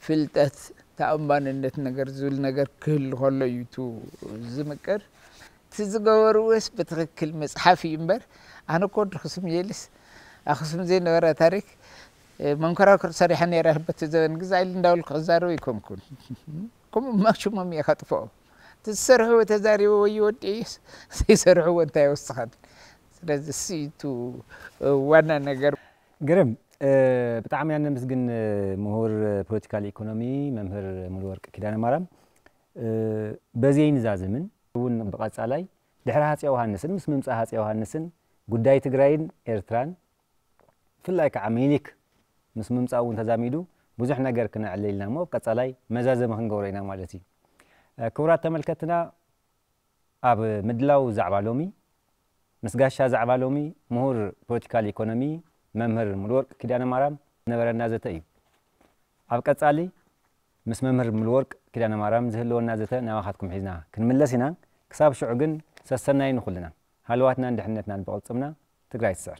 ፍልጠት ተኣማንነት ነገር ዝብል ነገር ክህሉ ከሎ እዩ ዝምቅር እቲ ዝገበርዎስ ብትኽክል መፅሓፍ እዩ እምበር ኣነ እኮ ወዲ ክስም የልስ ኣክሱም ዘይነበረ ታሪክ መንኮራኩር ሰሪሐ ነይረ በቲ ዘበን ግዛ ኢሉ እንዳበልኩ ክዛረብ ኣይኮንኩን። ከምኡ ማሽሞም እየ ከጥፍኦ። እቲ ዝሰርሕዎ ተዛሪቦ ወይ ወዲ እዩ፣ ዘይሰርሕዎ እንታይ ይወስኸን? ስለዚ እሱ እዩ እቲ ዋና ነገር። ግርም፣ ብጣዕሚ ኢና ነመስግን ምሁር ፖለቲካል ኢኮኖሚ መምህር ሙሉወርቅ ኪዳነ ማርያም። በዚ ኣይንዛዝምን እውን ብቐጻላይ ድሕሪ ሃፀይ ዮሃንስን ምስ ምምፃእ ሃፀይ ዮሃንስን ጉዳይ ትግራይን ኤርትራን ብፍላይ ከዓ ሚኒሊክ ምስ ምምፃእ እውን ተዛሚዱ ብዙሕ ነገር ክነዕልል ኢና እሞ ቀጻላይ መዛዘሚ ክንገብሮ ኢና ማለት እዩ። ክቡራት ተመልከትና ኣብ ምድላው ዛዕባ ሎሚ ምስ ጋሻ ዛዕባ ሎሚ ምሁር ፖለቲካል ኢኮኖሚ መምህር ሙሉወርቅ ኪዳነ ማርያም ነበረና ዘተ እዩ። ኣብ ቀጻሊ ምስ መምህር ሙሉወርቅ ኪዳነ ማርያም ዝህልወና ዘተ ናባኻትኩም ሒዝና ክንምለስ ኢና። ክሳብ ሽዑ ግን ሰሰናዩ ንኹልና። ሃለዋትናን ድሕነትናን ብቕልጽምና። ትግራይ ትስዕር።